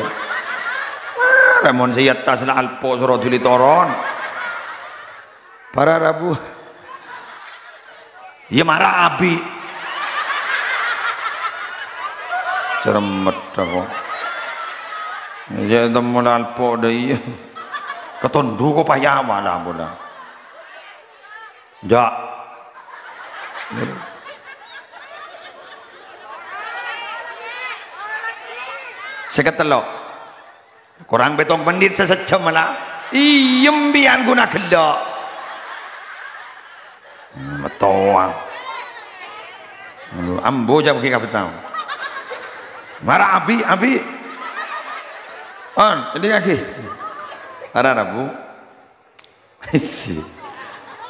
lamon sè è attas la alpo' soro dhuli toron. Para rabu. Iyâ, mara abi. Cermet aku. Iyâ, temmo la alpo' dâ' iyâ. Katon duko paya mala ampon. Ja. Sèket tello'. Korang pètto mennit sè sajjhâm la. Iyâ, sampèyan ghuna ghellâ'. Matowa. Ambu jhâ' ghi' kabhâtang. Mara abi, abi. On, èdingngaghi. Mara rabu. Isi.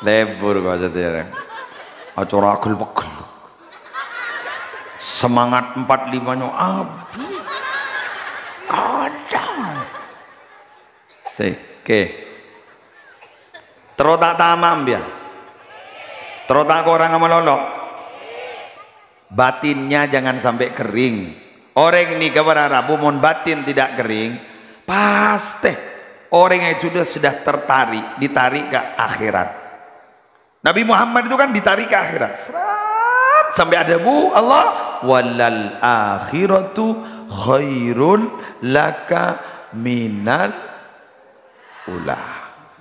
Lebur kok sadhâjâna. Acara agel-pegel. Semangat empat lima-nyo abi. Kadang. Sèkè. Terro ta' tama' sampèyan. Terro ta' korang malolo. Batinnya jangan sampai kering. Orèng nèka para rabu mon batin tidak kering, pasti orèng itu sudah, sudah tertarik, ditarik ke akhirat. Nabi Muhammad itu kan ditarik ke akhirat. Srat, sampai adhâbu Allah, "Walal akhiratu khairul laka minal ula."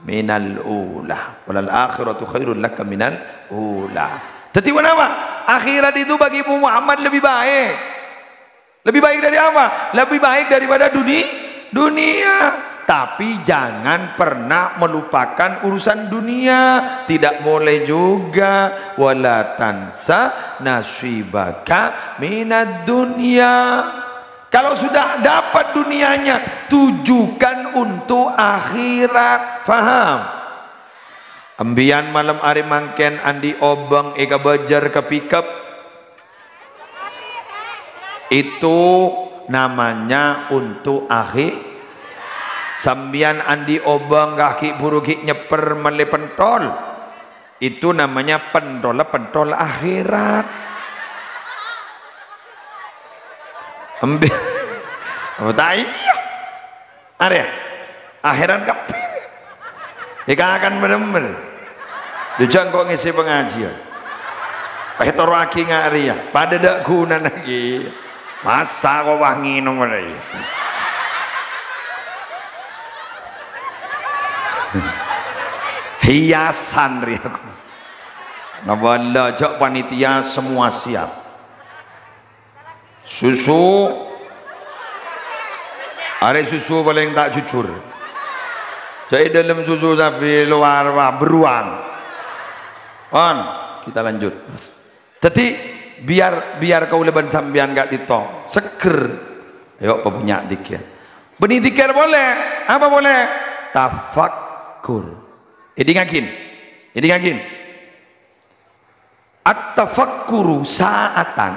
Minal ula. "Walal akhiratu khairul laka minal ula." Dhâddhi, kenapa? Akhirat itu bagi Muhammad lebih baik. Lebih baik dari apa? Lebih baik daripada duni-, dunia, tapi jangan pernah melupakan urusan dunia. Tidak boleh juga. "Wala tansa nasibaka minad dunya." Kalau sudah dapat dunianya, tujukan untuk akhirat. Faham? Embiyan malem arè mangkèn andi' obâng èkabâjâr ka pikep. Itu namanya untuk akhi-, Sambiyan andi' obâng kaghi' buru ghi' nyèpper mellè pentol. Itu namanya pentolla pentol akhirat. Embi-, oh, ta' iyâ. Arèya, akhirat kabbhi. Èkakan bhender. Dhu jhâ' engko' ngèsè pangajiân. Pas ètoro'aghi nga' rèya, padâ dâ' ghunana ghi. Masa' ko' pas ngènom arèya. Hiasan rèya ko'. Napa la jhâ' panitia semua siap. Susu. Arè susu palèng ta' jujur. Jhâ' è dâlem susu, tapè lowar, wah, beruang. Pon, kita lanjut. Dhâddhi, biar, biar kaulâ bân sampèyan ka'dinto seger. Ayo, pabânnya' dhikir. Bânnè dhikir polè. Apa polè? Tafakkur. Èdingngaghi. Èdingngaghi. At-tafakkuru sa'atan,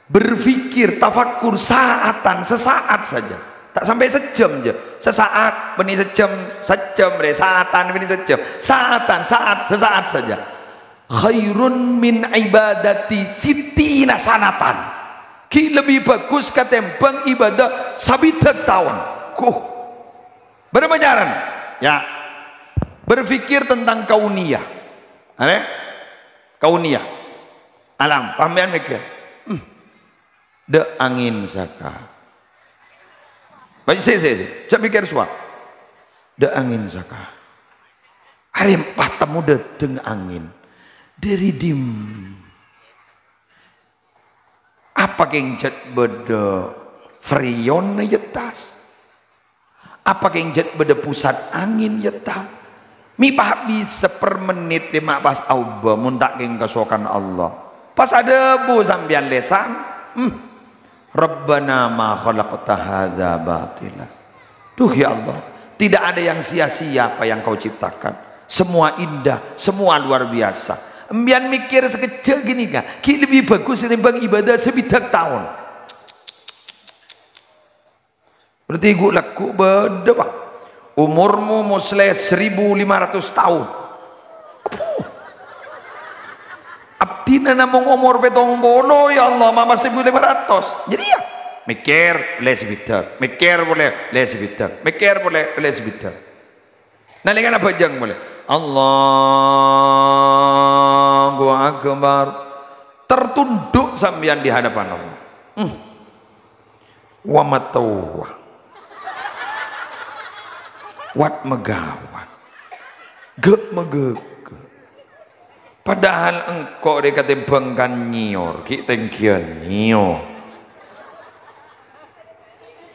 berpikir, tafakkur sa'atan, sesaat saja. Ta' sampè' sajjhâm jâ. Sesaat, bânnè sajjhâm, sajjhâm rè, sa'atan, bânnè sajjhâm. Sa'atan, saat, sesaat saja. Khairun min ibadati sittina sanatan. Ghi' lebbi bhâghus katèmbhâng ibadah sabidhâk taon. Kuh. Bârâmpa carana? Ya. Berpikir tentang kauniyah. Anè? Kauniyah. Alam. Sampèyan mèkkèr. Hmm. Dâ' angèn saka. Bâ-, sè, sè, sè. Jhâ' mèkkèr sowan. Dâ' angèn saka. Arè pas temmo dâteng angèn. Dâri dimma? Apa kèng jhât bâdâ freon è attas? Apa kèng jhât bâdâ pusat angèn, ya ta? Mè' pas bisa per mennit dimma pas aobâ mon ta' kèng kasokan Allah. Pas adhâbu sampèyan lèsan, hmm, "Rabbana ma khalaqta hadza batila." Duh, ya Allah, tidak ada yang sia-sia apa yang Kau ciptakan. Semua indah, semua luar biasa. Embiyan mèkkèr sakejjhâ' ghânèka, ghi' lebbi bhâghus ètèmbhâng ibadah sabidhâk taon. Berarti ghu-, lagghu' bâdâ, Pa'. Omormu moslè seribu lima ratus taon. Apo? Abdhina namong omor pèttong polo, ya Allah, mama seribu lima ratus. Jadi ya, mèkkèr, ollè sabidhâk. Mèkkèr polè, ollè sabidhâk. Mèkkèr polè, ollè sabidhâk. Nalèkana abhâjâng polè, "Allahu Akbar." Tertunduk sampèyan di hadapan Allah. Hmm. Wa matowa. Wat magawat. Gè' magègè'. Padahal engko' rè katèmbhâng kan nyèyor, ghi' tèngghiyân nyèyor.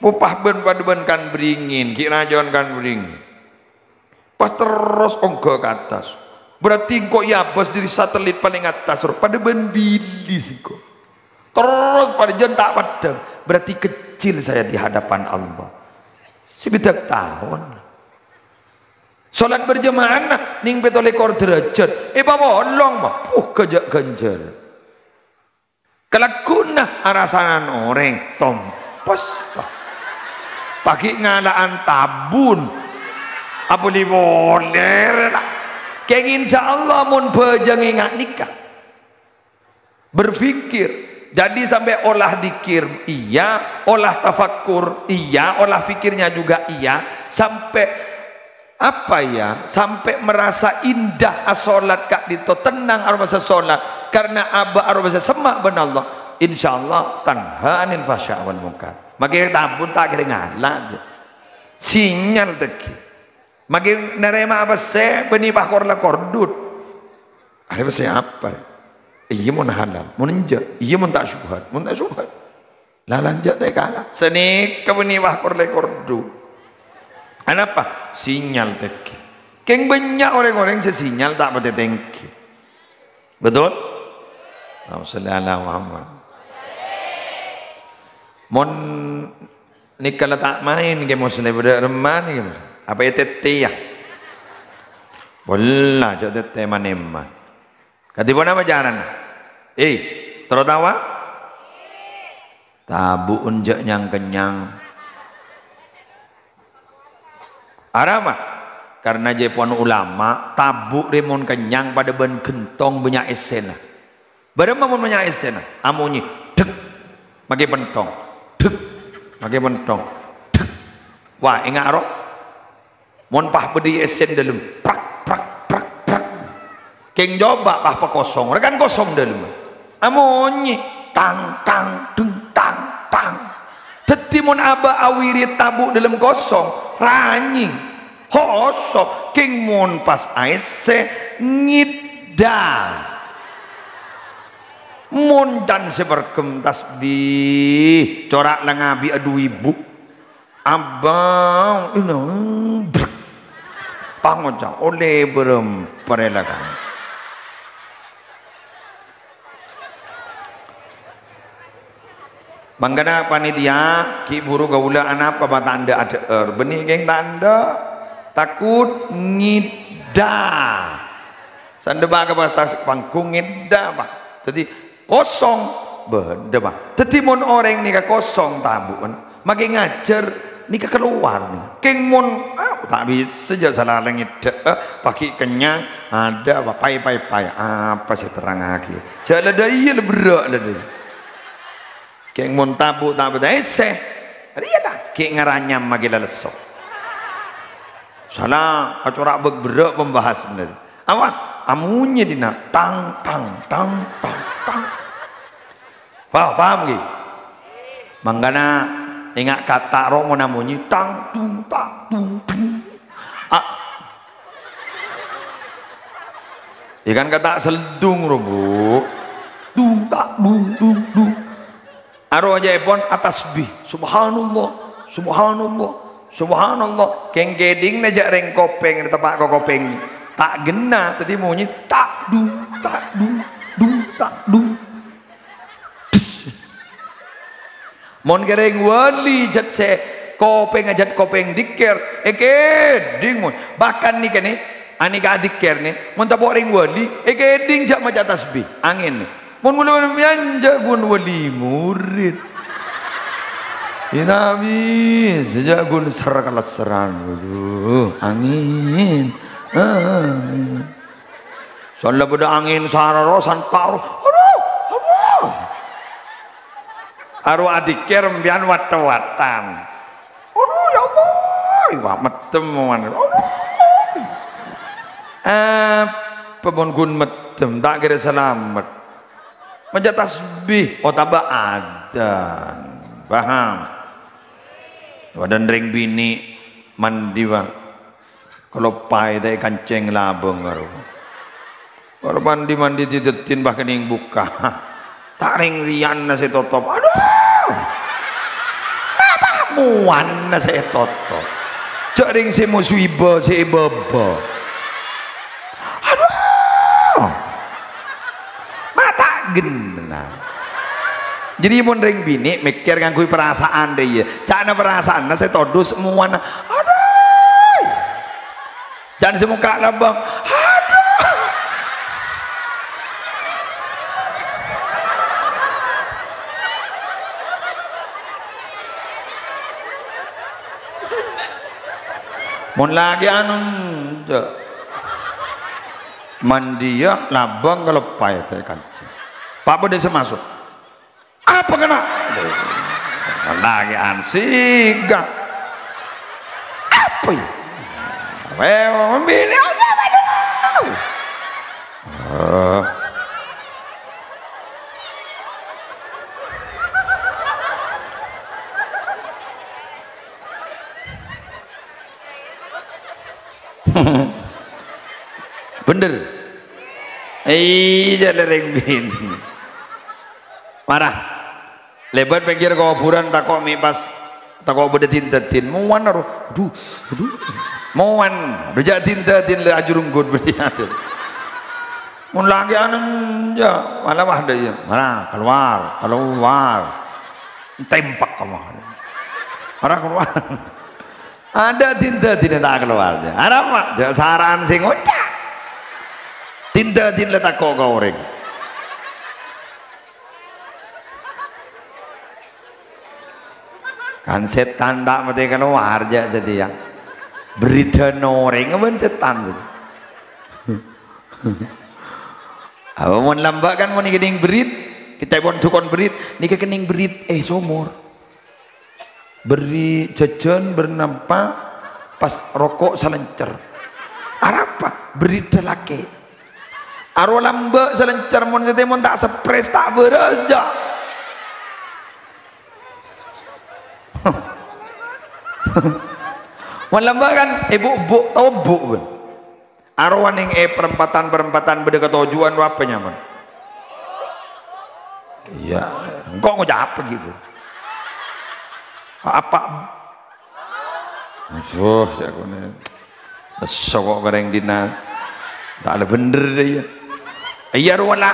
Popah bân padâ bân kan bringin, ghi' rajâân kan bringin. Pas terros ongghâ ka attas. Berarti engko' èabâs dâri satelit palèng attas, ro, padâ bân bili sèngko'. Terros padâ jân ta' peddhâng. Berarti kecil saya di hadapan Allah. Sabidhâk taon. Salat berjamaahna nèng pètto lèkor derajat. Èpapolong, mah. Puh, ghâjâ' ghânjhârân. Kalagghu'na arasanan orèng, tompes. Paghi' ngala'an tabun. Abâli polè, rè, la. Kèng, insyaallah, mon bhâjâng ènga' nèka. Berpikir. Jadi, sampè' olah dzikir, iya. Olah tafakkur, iya. Olah pikirnya juga, iya. Sampè' Apa ya, sampè' merasa indah asolat ka'dinto, tenang aromasa solat, karena abâ' aromasa semma' bân Allah, insyaallah tanha 'anil fahsya' wal munkar. Makè tabun ta' kèra ngala', jâ. Sinyal tèngghi. Makè narèma pèssè bânnè pakor la kordut. Arè pèssè apa? Iyâ mon halal, mon enjâ', iyâ mon ta' syubhat, mon ta' syubhat. La lanjut tè kala. Sanèka bânnè wah kor-lèkor du. Anapa? Sinyal tèngghi. Kèng bânnya' orèng-orèng sè sinyal ta' patè tèngghi. Betul? Allahumma shalli ala Muhammad. Mon nèka la ta' maèn, Kè Muslèh, bâdâ remma nèka, Kè Muslèh. Apa ètètè, yâ? Pola, jhâ' tètè man-emman. Kadhi ponapa carana? Eh, terro tawa? Tabu'un jhâ' nyang-kennyang. Arapa? Karna jhâ' pon ulama, tabu' rè mon kennyang padâ bân ghentong bânnya' èssèna. Bârâmma mon bânnya' èssèna? Amonyè, dhek, makè penthong. Dhek, makè penthong. Dhek. Wah, enga' ro. Mon pas bâdâ èssèna dâlem, prak, prak, prak, prak. Kèng coba pas pakosong, rè kan kosong dâlem. Amonyè, tang, tang, dung, tang, tang. Dhâddhi mon abâ' awirid tabu' dâlem kosong, ranyèng, hosok, kèng mon pas aèssè, ngèdda. Mon can sè parghem tasbih, cora' la ngabi'â du èbu. Abang, ina, brek. Pangoca', ollè bârâmpa rè la kan. Mangkana panitia, ghi' bhuru kaulâ anapa ma' tandhâ adhâ'âr. Bânnè kèng tandhâ, takut ngèdda. Sandhâ bâ' ka attas panggung ngèdda, Pak. Dhâddhi, kosong, bâdâ, Pak. Dhâddhi, mon orèng nèka kosong tabu'en, makè ngajhâr nèka kalowar, nèka. Kèng mon, ah, ta' bisa, jhâ' sala ngèdda, eh, paghi' kennyang, adâ, Pak, pai, pai, pai. Apa sè terrangaghi? Jhâ' la dâ' iyâ, la berrâ' la dâ' iyâ. Kèng mon tabu' ta' bâdâ èssè, rèya la, ghi' ngaranyam maghi la lesso. Sala, acora' bâk-, berrâ' pembahasanna. Apa? Amonyè dina, tang, tang, tang, tang, tang. Paham, paham, ghi? Mangkana, enga' kata' ro mon amonyè, tang, tung, tang, tung, tung. A-, Yâ kan kata' seldung ro, Bu. Dung, tak, dung, dung, dung. Aro jâèpon atasbih. Subhanallah, subhanallah, subhanallah. Kèng-kèdingna jhâ' rèng kopèng, teppa' ka kopèng. Ta' ghenna, dhâddhi monyè, tak, dung, tak, dung, dung, tak, dung. Mon kèrèng wali jhât sè kopèngnga jhât kopèng dikkèr, èkèdhing mon. Bahkan nèka nè, anèka adikkèr nè, mon tapo' rèng wali, èkèdhing jhâ' maca tasbih. Angèn. Mon kaulâ sampèyan jhâ' ghun wali murid. Ina bisa jhâ' ghun ser-kalesseran. Waduh, angèn. Angèn. Sala bâdâ angèn sara ro, santa ro. Aduh, aduh. Aro adikkèr sampèyan wat-tawatan. Aduh, ya Allah, iwa meddem, man. Aduh. Apa mon ghun meddem, ta' kèra salamet. Maca tasbih, otabâ adzan. Paham? Bâdâna rèng binè' mandi, Pak. Kaloppaè ta' èkancèng labâng, aro. Aro mandi-mandi didheddhin, pas kènèng bukka'. Ta' rèng rèyanna sè totop. Aduh! Napa mowana sè ètotop? Jhâ' rèng sè mosibâ, sè èbâbâ. Aduh! Ma' ta' ghenna. Jadi mon rèng binè' mèkkèr ngangghuy perasaan rè, iyâ. Ca'na perasaanna sè todus mowana. Aduh! Jhân sè mokka' labâng. Aduh! Mon lakè'an, enjâ'. Mandiyâ labâng kaloppaè ta' èkancèng. Pa' bâdâ sè maso'. Apa kèna? Lakè'an sèga. Apa ya? Weh, mambili aja, waduh. Eh. Bhender. Iyâ, la rèng binè'. Mara. Lèbât pèngghir kobhurân tako' mè' pas tako' bâdâ din-dâdin. Mowan ro. Aduh, aduh. Mowan. Aduh, jhâ' din-dâdin lè ajurunggut bâdâ. Mon lakè'an, ya, malah wah, dâ', ya. Mara, keluar, keluar. Tèmpèk kamu. Mara keluar. Adâ' din-dâdin ta' keluar, ya. Arapa? Jhâ' sara'an sè ngoca'. Din-dâdin la tako' ka orèng. Kan sètan ta' matè kalowar, jhâ' satèya. Bherridhân orèng bân sètan. Apa mon lambâ' kan mon kennèng bherrid, kita pon dhukon bherrid, nèka kennèng bherrid, eh, somor. Bherrid jhâjhân, bherrid nampa, pas roko' salèncèr. Arapa? Bherrid dâlakè. Aro lambâ' salèncèr mon satèya mon ta' stres, ta' bârâs, jhâ'. Mon lambâ' kan, èbu'-bu', tao bu', bân. Arowa nèng è perempatan-perempatan bâdâ katoju'ân, apa nyaman? Iyâ, engko' ngoca' apa gitu? Apa? Aduh, jhâ' konè. Lesso ko' ka rèng dinna'. Ta' la bhendher dâ' iyâ. Iyâ, rowa la.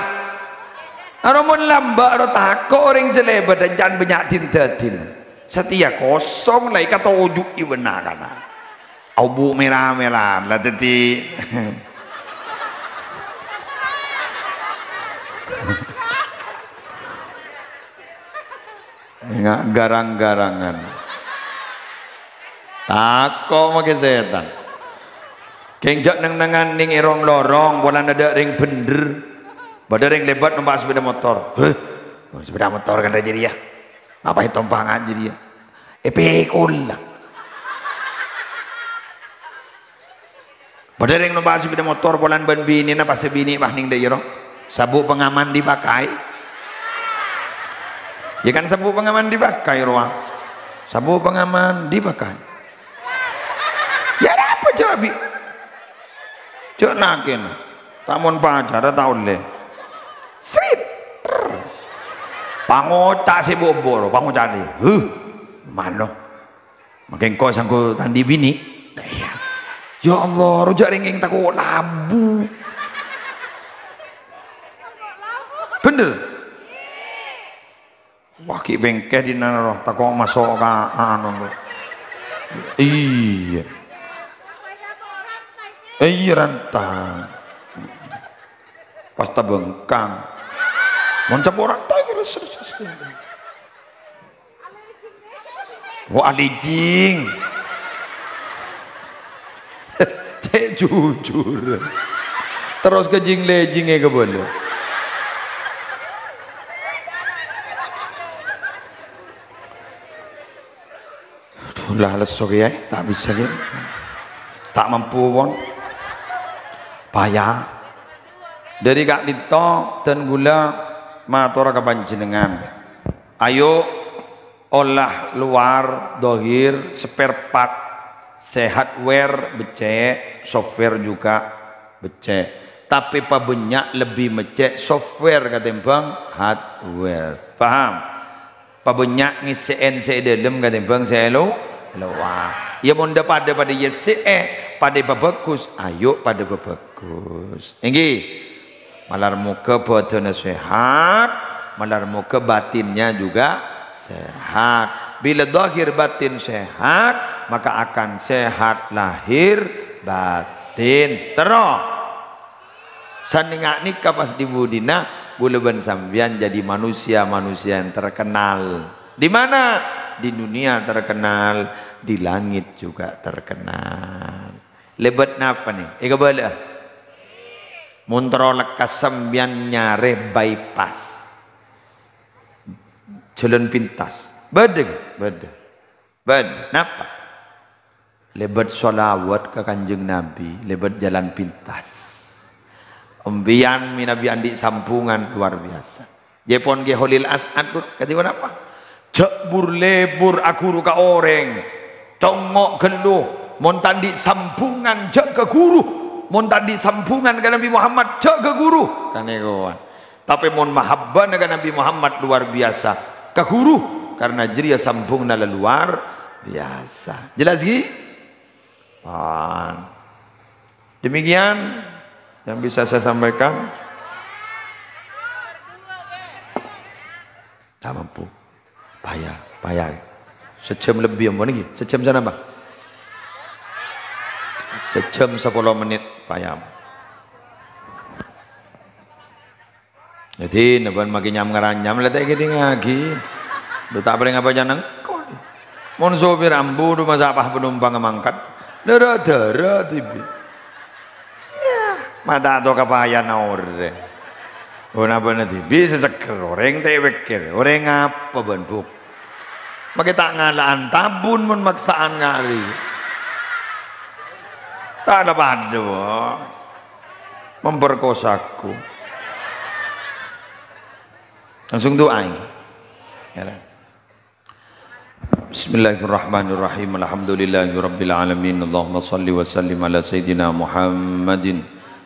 Aro mon lambâ' aro tako' orèng sè lèbât, can bânnya' din-dâdin. Satèya kosong la èkatoju'i bân na'-kana'. Abu mèra-mèra la dhâddhi. Nga-, garang-garangan. Tako' makè sètan. Kèng jhâ' neng-nengngan nèng è rong-lorong, polana tadâ' rèng bhendher. Bâdâ rèng lèbât nompa' sepeda motor. Heh, sepeda motor kan rajâ rèya. Apa ètompangan jârèya? Èpèkolla. Bâdâ rèng nompa' sepeda motor polana bân binèna, pas sè binè' pas nèng dâ'iyâ ro. Sabuk pengaman dipakai. Ya kan, sabuk pengaman dipakai, rowa. Sabuk pengaman dipakai. Ya, apa jhâ' bi'? Jhâ' nakèna. Ta' mon pacara ta' ollè. Srit. Pangoca' sè boboro, pangoca' dhi. Huh. Mano. Makè engko' sangko tandhi binè'. Nah, iyâ. Ya Allah, rojâ rèng-rèng tako' labu. Bhendher. Wah, ghi' bengkè dinna' ro, tako' maso' ka anu. Iyâ. Iyâ, rantang. Pas tabengkang. Mon caporan, ta' kira ses-, ses-, ses-. Wa' alijing. Cè' jujur. Terros ka jing-lejingngè kabâlâ. Aduh, la lesso kèya, ta' bisa kèya. Ta' mampu pon. Paya. Dâri ka'dinto dân ghulâ matora ka panjhennengngan. Ayo, olah luar, dhahir, spare part, sè hardware beccè', software juga beccè'. Tapè pabânnya' lebbi meccè' software katèmbhâng hardware. Paham? Pabânnya' ngèssè'è sè è dâlem katèmbhâng sè è lo-, lowar. Ya, mon dâ-padâ padâ èyèssè'è, padâ èpabhâghus, ayo padâ pabhâghus. Èngghi. Malar moghâ bhâdhânna sehat, malar moghâ batinnya juga sehat. Bila zahir batin sehat, maka akan sehat lahir batin. Terro. Sanènga' nèka pas dhi budina, ghulâ bân sampèyan jadi manusia-manusia yang terkenal. Di mana? Di dunia terkenal, di langit juga terkenal. Lèbât napa nè? Èkabâlâ'â. Mon terro lekkas sampèyan nyarè bypass. Jhâlân pintas. Bâdâ, bâdâ. Bâdâ. Napa? Lèbât sholawat ka Kanjeng Nabi, lèbât jhâlân pintas. Sampèyan mènabi andi' sambungan luar biasa. Jhâ' pon Kè Kholil As'ad, Bur, kadhi ponapa? Jhâ' bur-lèbur aghuru ka orèng. Congngo' ghâllu, mon ta' andi' sambungan jhâ' ka ghuru. Mon ta' andi' sambungan ka Nabi Muhammad, jhâ' ka ghuru. Kan èkowa. Tapè mon mahabbana ka Nabi Muhammad luar biasa. ka ghuru, karena jârèya sambhungnga la luar biasa. Jelas, ghi? Pan. Demikian yang bisa saya sampaikan. Ta' mampu. Paya, paya. Sajâm lebbi ampon iki. Sajâm sanapa? Sajâm sapolo menit, paya. Dhâddhi, nabân makè nyam-ngaranyam, la ta' èkèdingngaghi. Lo ta' parèng apa jhâ' nengko. Mon sopir ambu, dhu masa' pas panompangnga mangkat. Dârâ-dârâ dhibi'. Iyâ, ma' ta' to kapayana orèng. Oh, nabâna dhibi' sè seggher orèng ta' èpèkkèr. Orèng apa bân, Bu'? Makè ta' ngala'an tabun mon maksa'an ngarè. Ta' la padâ, Bu'. Memperkosaku. Langsung du'a ini. Ya, lah. Bismillahirrahmanirrahim. Alhamdulillahirabbil alamin. Allahumma shalli wa sallim ala sayyidina Muhammadin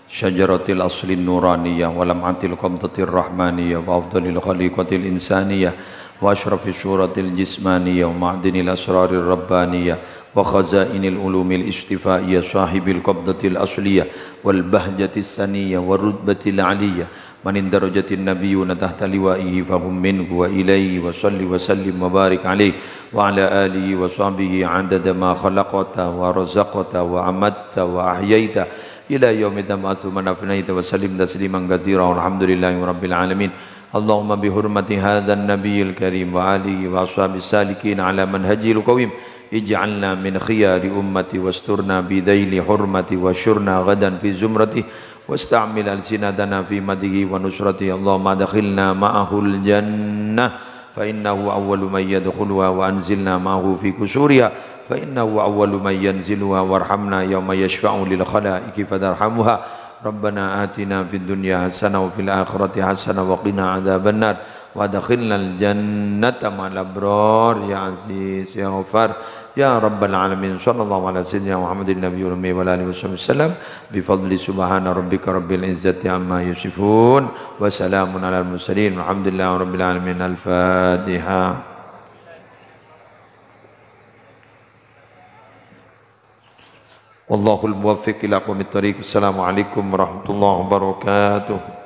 syajaratil aslin nuraniyah wa lam'atil qabdatir rahmaniyah wa afdalil khaliqatil insaniyah wa asyrafis suratil jismaniyah wa ma'dinil asrarir rabbaniyah wa khazainil ulumil istifaiyah sahibil qabdatil asliyah wal bahjatis saniyah wa rutbatil aliyah. Man inda darajatin nabiyyuna tahta liwa'ihi fahum minhu wa ilaihi wa shalli wa sallim wa barik alaihi wa ala alihi wa sahbihi adada ma khalaqta wa razaqta wa amatta wa ahyaita ila yaumi tab'atsu man afnaita wa sallim tasliman katsira. Walhamdulillahi rabbil alamin. Allahumma bi hurmati hadzan nabiyil karim wa alihi wa ashabis salikin ala manhajil qawim, ij'alna min khiyari ummati wasturna bi dhaili hurmati wa syurna ghadan fi zumrati wasta'mil alsinatana fi madhihi wa nusrati. Allahumma adkhilna ma'ahul jannah fa innahu awwalu man yadkhuluha wa anzilna ma'ahu fi qusuriha fa innahu awwalu man yanziluha warhamna yauma yasyfa'u lil khalaiqi fatarhamuha. Rabbana atina fid dunya hasanah wa fil akhirati hasanah wa qina adzabannar. Wa adkhilnal jannata ma'al abrar, ya Aziz, ya Ghaffar, ya Rabbal alamin. Sallallahu ala sayyidina Muhammadin nabiyil ummi wa ala alihi wa sahbihi wasallam. Bi fadli subhana rabbika rabbil izzati amma yasifun. Wa salamun alal mursalin. Walhamdulillahi rabbil alamin. Al-Fatihah. Wallahul muwaffiq ila aqwamit thariq. Assalamualaikum warahmatullahi wabarakatuh.